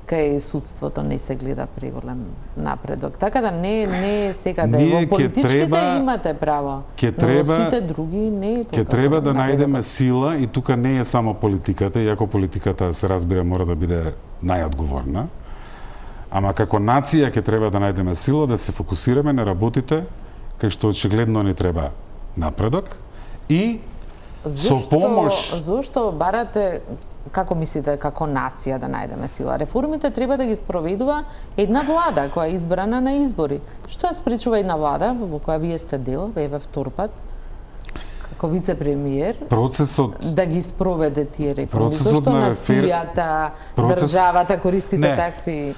кај судството не се гледа преголем напредок. Така да не не сега да во политичките треба, имате право, ќе треба, но во сите други не е тоа. Ќе треба да најдеме сила и тука не е само политиката, иако политиката се разбира мора да биде најодговорна. Ама како нација ќе треба да најдеме сила да се фокусираме на работите кај што очигледно ни треба напредок и Зошто, со помош. Зошто барате, како мислите, како нација да најдеме сила? Реформите треба да ги спроведува една влада која е избрана на избори. Што ја спречува една влада во која вие сте дел, еве втор пат, како вице-премиер, процесот да ги спроведе тие реформи? Процесот Зошто на нацијата, процес... државата користите не. такви?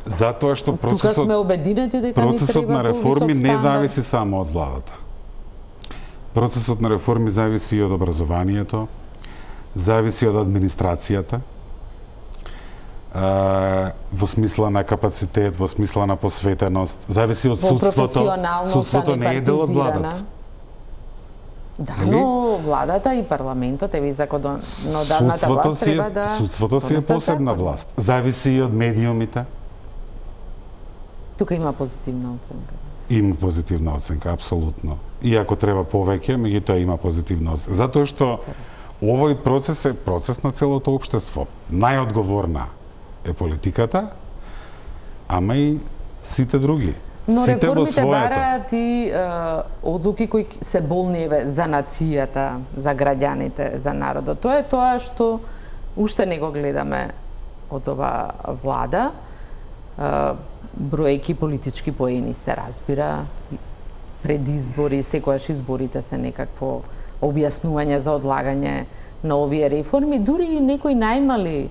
Затоа што процесот Тука сме обединети дека ни треба процесот на реформи не зависи само од владата. Процесот на реформи зависи и од образованието, зависи од администрацијата, а, во смисла на капацитет, во смисла на посветеност, зависи од судството. Судството не е дел од владата. Да, но владата и парламентот, еви законодавната власт треба да... Судството си е посебна власт. Зависи и од медиумите. Тука има позитивна оценка. Има позитивна оценка, апсолутно. Иако треба повеќе, меѓутоа има позитивна оценка. Затоа што овој процес е процес на целото општество. Најодговорна е политиката, ама и сите други. Но сите реформите бараат и е, одлуки кои се болни еве за нацијата, за граѓаните, за народот. Тоа е тоа што уште не го гледаме од ова влада. Е, броејки политички поени се разбира, пред избори, секојаш изборите се некакво објаснување за одлагање на овие реформи, дури и некои најмали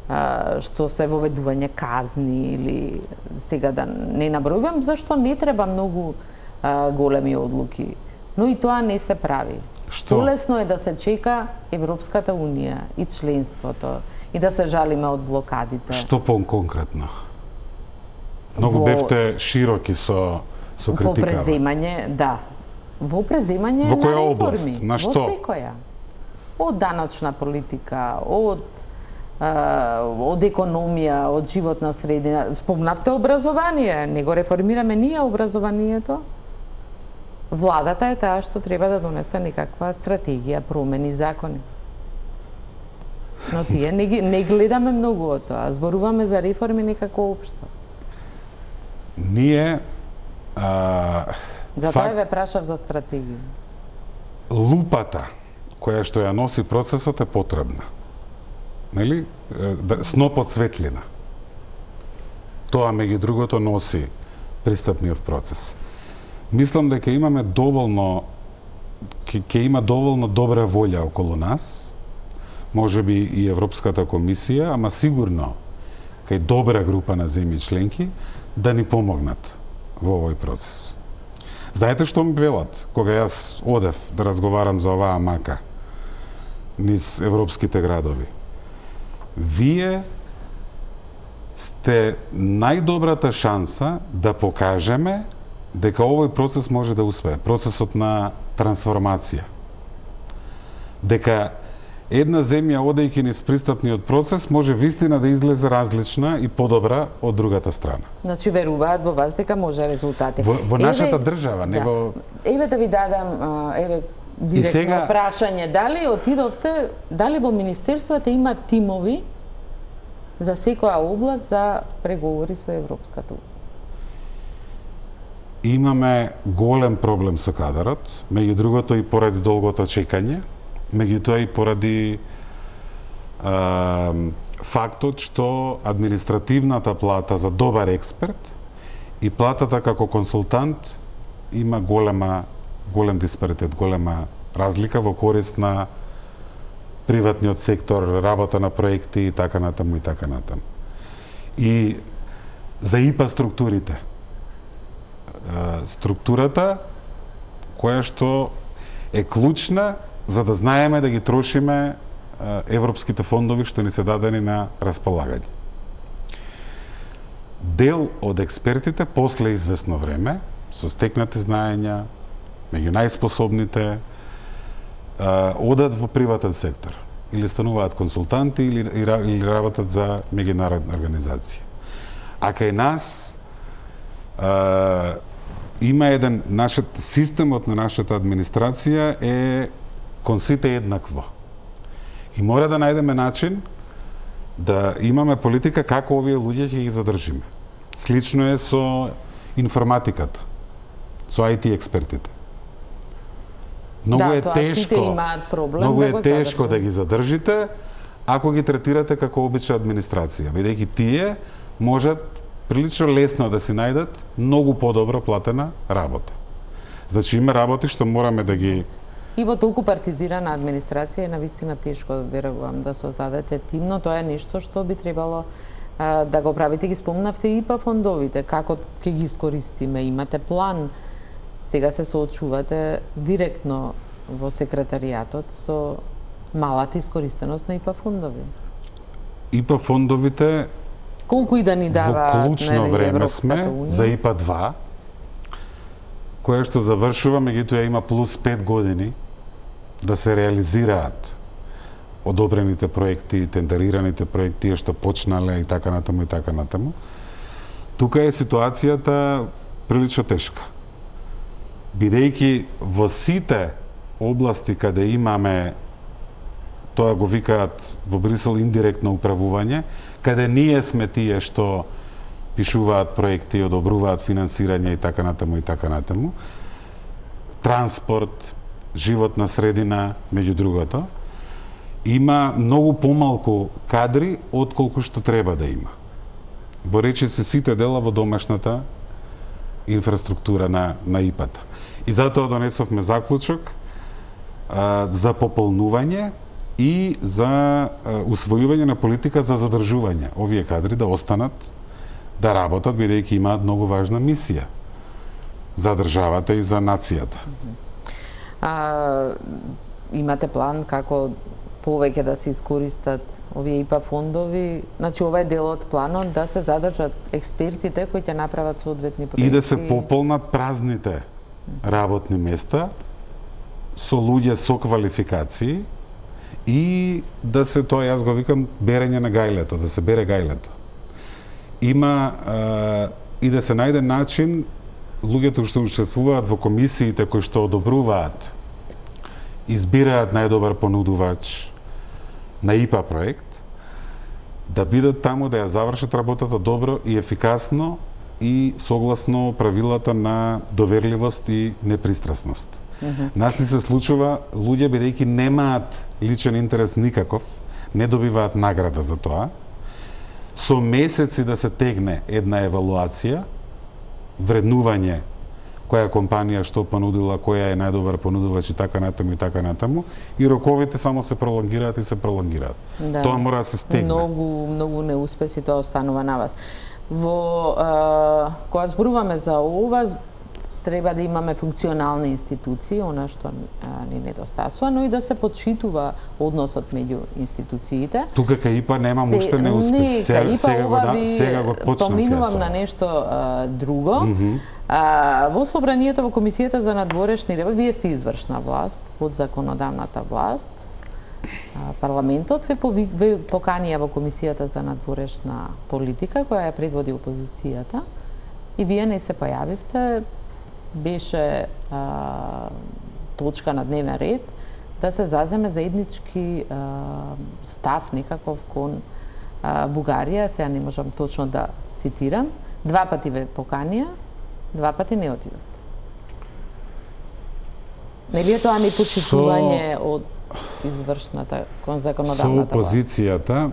а, што се воведување казни или сега да не набројувам, зашто не треба многу а, големи одлуки. Но и тоа не се прави. Што? Полесно е да се чека Европската Унија и членството и да се жалиме од блокадите. Што по-конкретно? Многу Во... бевте широки со со критикава. Во преземање, да. Во преземање Во која на реформи. област? На што? Во секоја. Од даночна политика, од од економија, од животна средина. Спомнавте образование, не го реформираме ние образованието. Владата е таа што треба да донесе некаква стратегија, промени, закони. Но тие не, не гледаме многу од тоа, зборуваме за реформи некако општо. Ние а, Затоа фак... ве прашав за стратегија. Лупата која што ја носи процесот е потребна. Нели? Снопот светлина. Тоа меѓу другото носи пристапниот процес. Мислам дека имаме доволно ќе ќе има доволно добра волја околу нас, можеби и Европската комисија, ама сигурно кај добра група на земји членки да ни помогнат во овој процес. Знаете што ми велат кога јас одев да разговарам за оваа мака низ европските градови? Вие сте најдобрата шанса да покажеме дека овој процес може да успее, процесот на трансформација. Дека една земја, одејќи низ пристапниот процес, може вистина да излезе различна и подобра од другата страна. Значи веруваат во вас дека може резултати. Во, во нашата еве, држава, не да. во... Еве да ви дадам, еве, директно сега... прашање. Дали отидовте, дали во Министерството има тимови за секоја област за преговори со Европската унија? Имаме голем проблем со кадарот, меѓу другото и поради долгото чекање, меѓутоа и поради а, фактот што административната плата за добар експерт и платата како консултант има голема, голем диспаритет, голема разлика во корист на приватниот сектор, работа на проекти и така натаму и така натаму. И за ИПА структурите. Структурата која што е клучна за да знаеме да ги трошиме европските фондови што ни се дадени на располагање. Дел од експертите после известно време, со стекнати знаења, меѓу најспособните, одат во приватен сектор или стануваат консултанти или, или работат за меѓународна организација. А кај нас а, има еден, нашиот системот на нашата администрација е кон сите еднакво. И мора да најдеме начин да имаме политика како овие луѓе ќе ги задржиме. Слично е со информатиката, со ай ти експертите. Многу да, е тоа тешко. Сите имаат проблем многу да е го тешко задржим. да ги задржите ако ги третирате како обична администрација, бидејќи тие можат прилично лесно да си најдат многу подобро платена работа. Значи има работи што мораме да ги... И во толку партизирана администрација е навистина тешко, верувам, да создадете тим, но тоа е нешто што би требало а, да го правите. Ги спомнавте и па фондовите, како ќе ги искористиме, имате план. Сега се соочувате директно во секретаријатот со малата искористеност на ИПА фондови. ИПА фондовите колку и да ни даваат, во клучно нели, време Европската сме унија? за ИПА два, која што завршува, меѓутоа има плюс пет години да се реализираат одобрените проекти, тендерираните проекти што почнале и така натаму и така натаму. Тука е ситуацијата прилично тешка. Бидејќи во сите области каде имаме, тоа го викаат во Брисел индиректно управување, каде ние сме тие што пишуваат проекти, одобруваат финансирање и така натаму и така натаму, транспорт, животна средина, меѓу другото, има многу помалку кадри отколку што треба да има. Во речиси сите дела во домашната инфраструктура на, на ИПА-та. И затоа донесовме заклучок а, за пополнување и за а, усвојување на политика за задржување. Овие кадри да останат да работат, бидејќи имаат многу важна мисија за државата и за нацијата. А, имате план како повеќе да се искористат овие ИПА фондови, значи ова е дел од планот да се задржат експертите кои ќе направат соодветни проекти и да се пополнат празните работни места со луѓе со квалификации и да се тоа, јас го викам, берење на гајлето, да се бере гајлето. Има е, и да се најде начин луѓето што учествуваат во комисиите кои што одобруваат, избираат најдобар понудувач на ИПА проект, да бидат таму да ја завршат работата добро и ефикасно и согласно правилата на доверливост и непристрасност. Mm-hmm. Нас ни се случува луѓе бидејќи немаат личен интерес никаков, не добиваат награда за тоа, со месеци да се тегне една евалуација, вреднување која компанија што понудила, која е најдобар понудувач и така натаму и така натаму, и роковите само се пролонгираат и се пролонгираат. Да. Тоа мора да се стегне. Многу, многу неуспеси тоа останува на вас. Во а, кога зборуваме за ова, треба да имаме функционални институции, она што а, ни недостасува, но и да се подшитува односот меѓу институциите. Тука кај ИПА немам уште неуспех. Сега, сега, го, да, сега го почнав. Поминувам на нешто а, друго. Mm -hmm. а, во собранието, во Комисијата за надворешни работи, вие сте извршна власт, под законодавната власт. А, парламентот ве, пови, ве поканија во Комисијата за надворешна политика, која ја предводи опозицијата, и вие не се појавивте. Беше а, точка на дневен ред да се заземе заеднички а, став некаков кон а, Бугарија, сега не можам точно да цитирам. Два пати ве поканија, два пати не отидовте. Не ли е тоа непочитување со... од извршната кон законодавната власт? Со опозицијата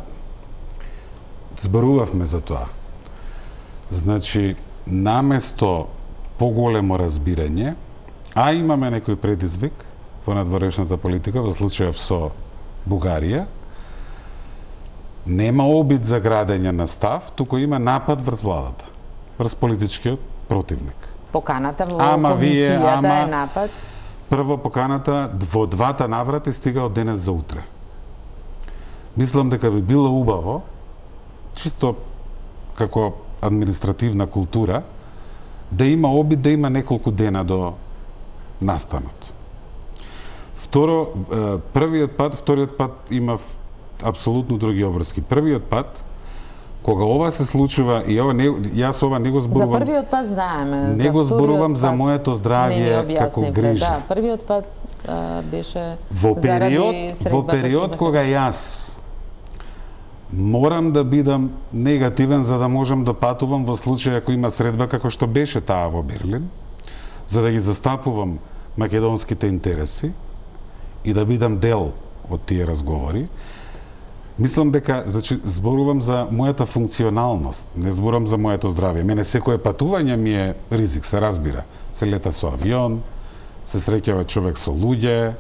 зборувавме за тоа. Значи, наместо поголемо разбирање, а имаме некој предизвик во надворешната политика, во случајов со Бугарија, нема обид за градење на став, туку има напад врз владата, врз политичкиот противник. Поканата во ама комисијата вие, ама, е напад? Прво поканата во двата наврати стига од денес за утре. Мислам дека би било убаво, чисто како административна култура, да има обид да има неколку дена до настанот. Второ, првиот пат, вториот пат има апсолутно други обврски. Првиот пат, кога ова се случува, и ова не, јас ова не го зборувам... За првиот пат знаеме. Не го зборувам за моето здравје како грижа. Да, првиот пат а, беше во период, во период кога јас морам да бидам негативен за да можам да патувам во случај ако има средба како што беше таа во Берлин, за да ги застапувам македонските интереси и да бидам дел од тие разговори. Мислам дека, значи, зборувам за мојата функционалност, не зборувам за моето здравје. Мене секое патување ми е ризик, се разбира. Се лета со авион, се среќава човек со луѓе,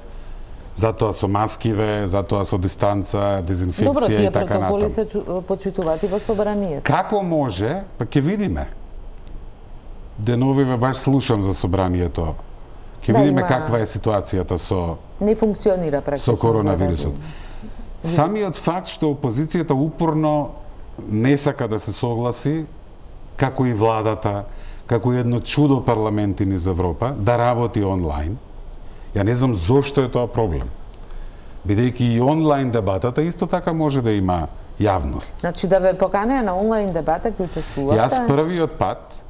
затоа со маскиве, затоа со дистанца, дезинфекција и така натаму. Добро, тие протоколи се почитуваат и во собранието. Како може, па ќе видиме. Деновиве баш слушам за собранието. Ќе да, видиме има... каква е ситуацијата со не функционира практично со коронавирусот. Да. Самиот факт што опозицијата упорно не сака да се согласи, како и владата, како и едно чудо парламенти низ Европа, да работи онлайн. Ја не знам зошто е тоа проблем. Бидејќи и онлайн дебатата исто така може да има јавност. Значи да ве поканеа на онлайн дебата кој учествувате? Јас првиот пат,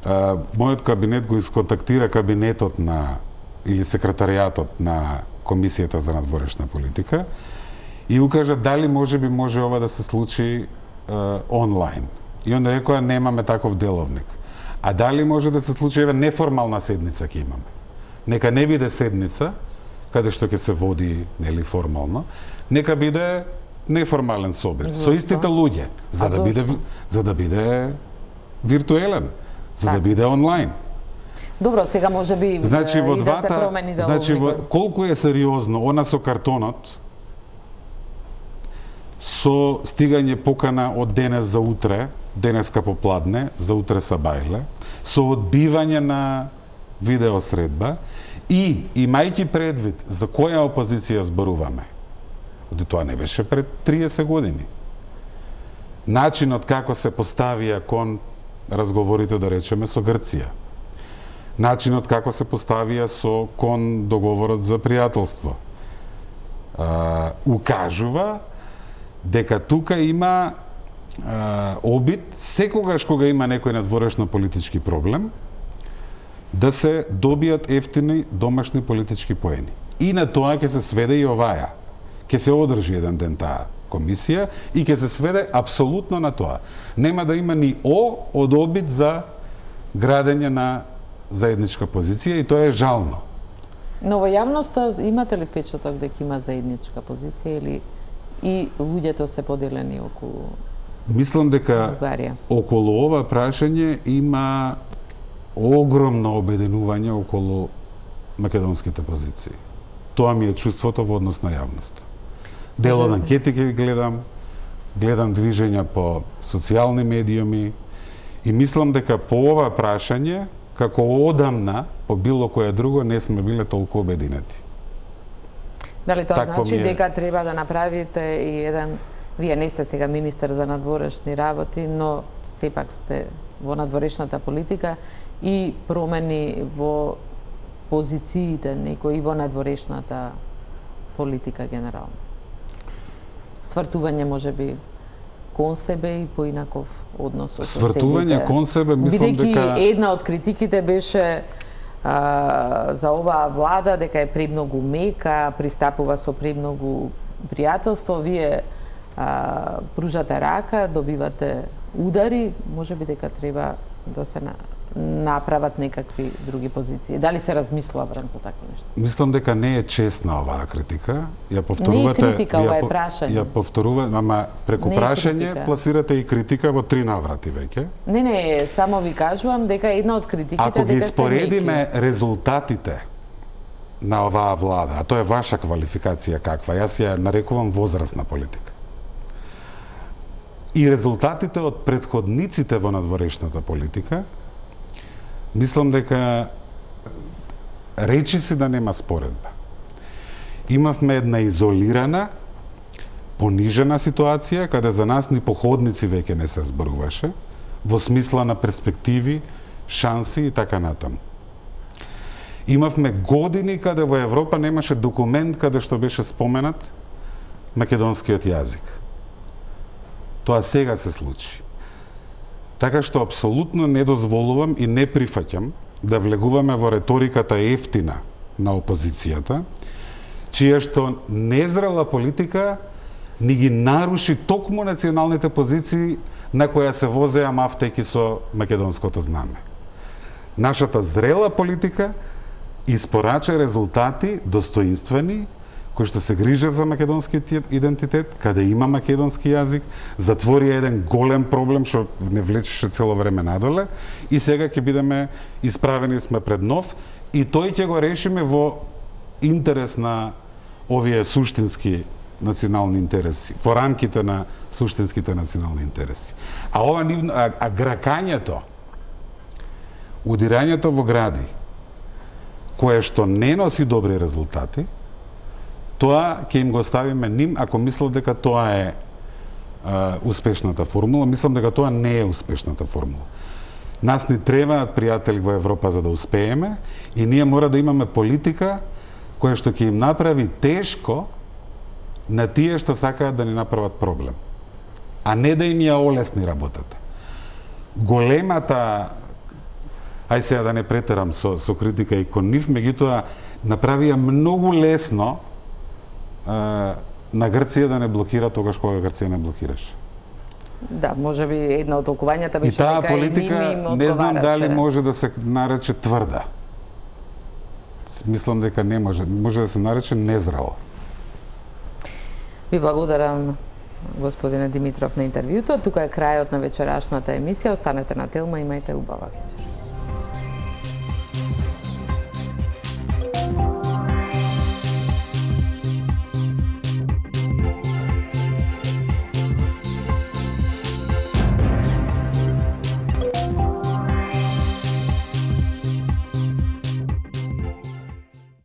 а, мојот кабинет го исконтактира кабинетот на или секретаријатот на Комисијата за надворешна политика и укажа дали може би може ова да се случи а, онлайн. И онда рекоа немаме таков деловник. А дали може да се случи еве неформална седница ќе имаме? Нека не биде седница, каде што ќе се води, нели, формално, нека биде неформален собир, со истите луѓе, за да биде за да биде виртуелен, за да биде онлайн. Добро, сега може би значи, и во да двата, се промени деловникот. Значи, во, колку е сериозно она со картонот, со стигање покана од денес за утре, денеска попладне, за утре сабајле, со одбивање на видеосредба и, имајќи предвид за која опозиција зборуваме, Оти тоа не беше пред триесет години. Начинот како се поставија кон разговорите, да речеме, со Грција. Начинот како се поставија со кон договорот за пријателство. А, укажува дека тука има а, обид, секогаш кога има некој надворешно политички проблем, да се добијат ефтини домашни политички поени. И на тоа ќе се сведе и оваја. Ќе се одржи еден ден таа комисија и ќе се сведе апсолутно на тоа. Нема да има ни О од обид за градење на заедничка позиција и тоа е жално. Но во јавноста имате ли впечаток дека има заедничка позиција или и луѓето се поделени околу Мислам дека Бугарија? Околу ова прашање има огромно обединување околу македонските позиции. Тоа ми е чувството во однос на јавноста. Дел од анкети ги гледам, гледам движења по социјални медиуми и мислам дека по ова прашање, како одамна, по било кое друго, не сме биле толку обединети. Дали тоа Такво значи ми е. дека треба да направите и еден, вие не сте сега министер за надворешни работи, но сепак сте во надворешната политика и промени во позициите некои во надворешната политика генерално. Свртување можеби кон себе и поинаков однос со Свртување соседите. кон себе, мислам Бидејќи дека една од критиките беше а, за оваа влада дека е премногу мека, пристапува со премногу пријателство, вие а, пружате рака, добивате удари, можеби дека треба да се на, направат некакви други позиции. Дали се размислува време за такви нешта? мислам дека не е честна оваа критика. Ја повторувате, Не е критика, ова е ја, по- прашање. Ја повторува, ама преку Не е прашање критика. пласирате и критика во три наврати веќе. Не, не, само ви кажувам дека една од критиките Ако ги дека сте споредиме меки. резултатите на оваа влада, а тоа е ваша квалификација каква, јас ја нарекувам возрастна политика. И резултатите од претходниците во надворешната политика, мислам дека речиси да нема споредба. Имавме една изолирана, понижена ситуација, каде за нас ни походници веќе не се зборуваше, во смисла на перспективи, шанси и така натаму. Имавме години каде во Европа немаше документ каде што беше споменат македонскиот јазик. Тоа сега се случи. Така што апсолутно не дозволувам и не прифаќам да влегуваме во реториката ефтина на опозицијата, чија што незрела политика ни ги наруши токму националните позиции на која се возеа мафтејки со македонското знаме. Нашата зрела политика испорача резултати достоинствени, кои што се грижат за македонскиот идентитет, каде има македонски јазик, затвори еден голем проблем што не влечеше цело време надоле и сега ќе бидеме исправени сме пред нов и тој ќе го решиме во интерес на овие суштински национални интереси, во рамките на суштинските национални интереси. А ова нивно, а, а гракањето, удирањето во гради, кое што не носи добри резултати, тоа ќе им го ставиме ним ако мислат дека тоа е а, успешната формула. Мислам дека тоа не е успешната формула. Нас ни требаат пријатели во Европа за да успееме и ние мора да имаме политика која што ќе им направи тешко на тие што сакаат да ни направат проблем, а не да им ја олесни работата. Големата, ај сега да не претерам со, со критика и кон нив, меѓутоа направија многу лесно а, на Грција да не блокира тогаш кога Грција не блокираше. Да, може би една од толкувањата И беше таа дека политика и ними им не знам одговараше. дали може да се нарече тврда. Мислам дека не може, може да се нарече незрела. Ви благодарам, господине Димитров, на интервјуто. Тука е крајот на вечерашната емисија. Останете на Телма, имајте убава вечер.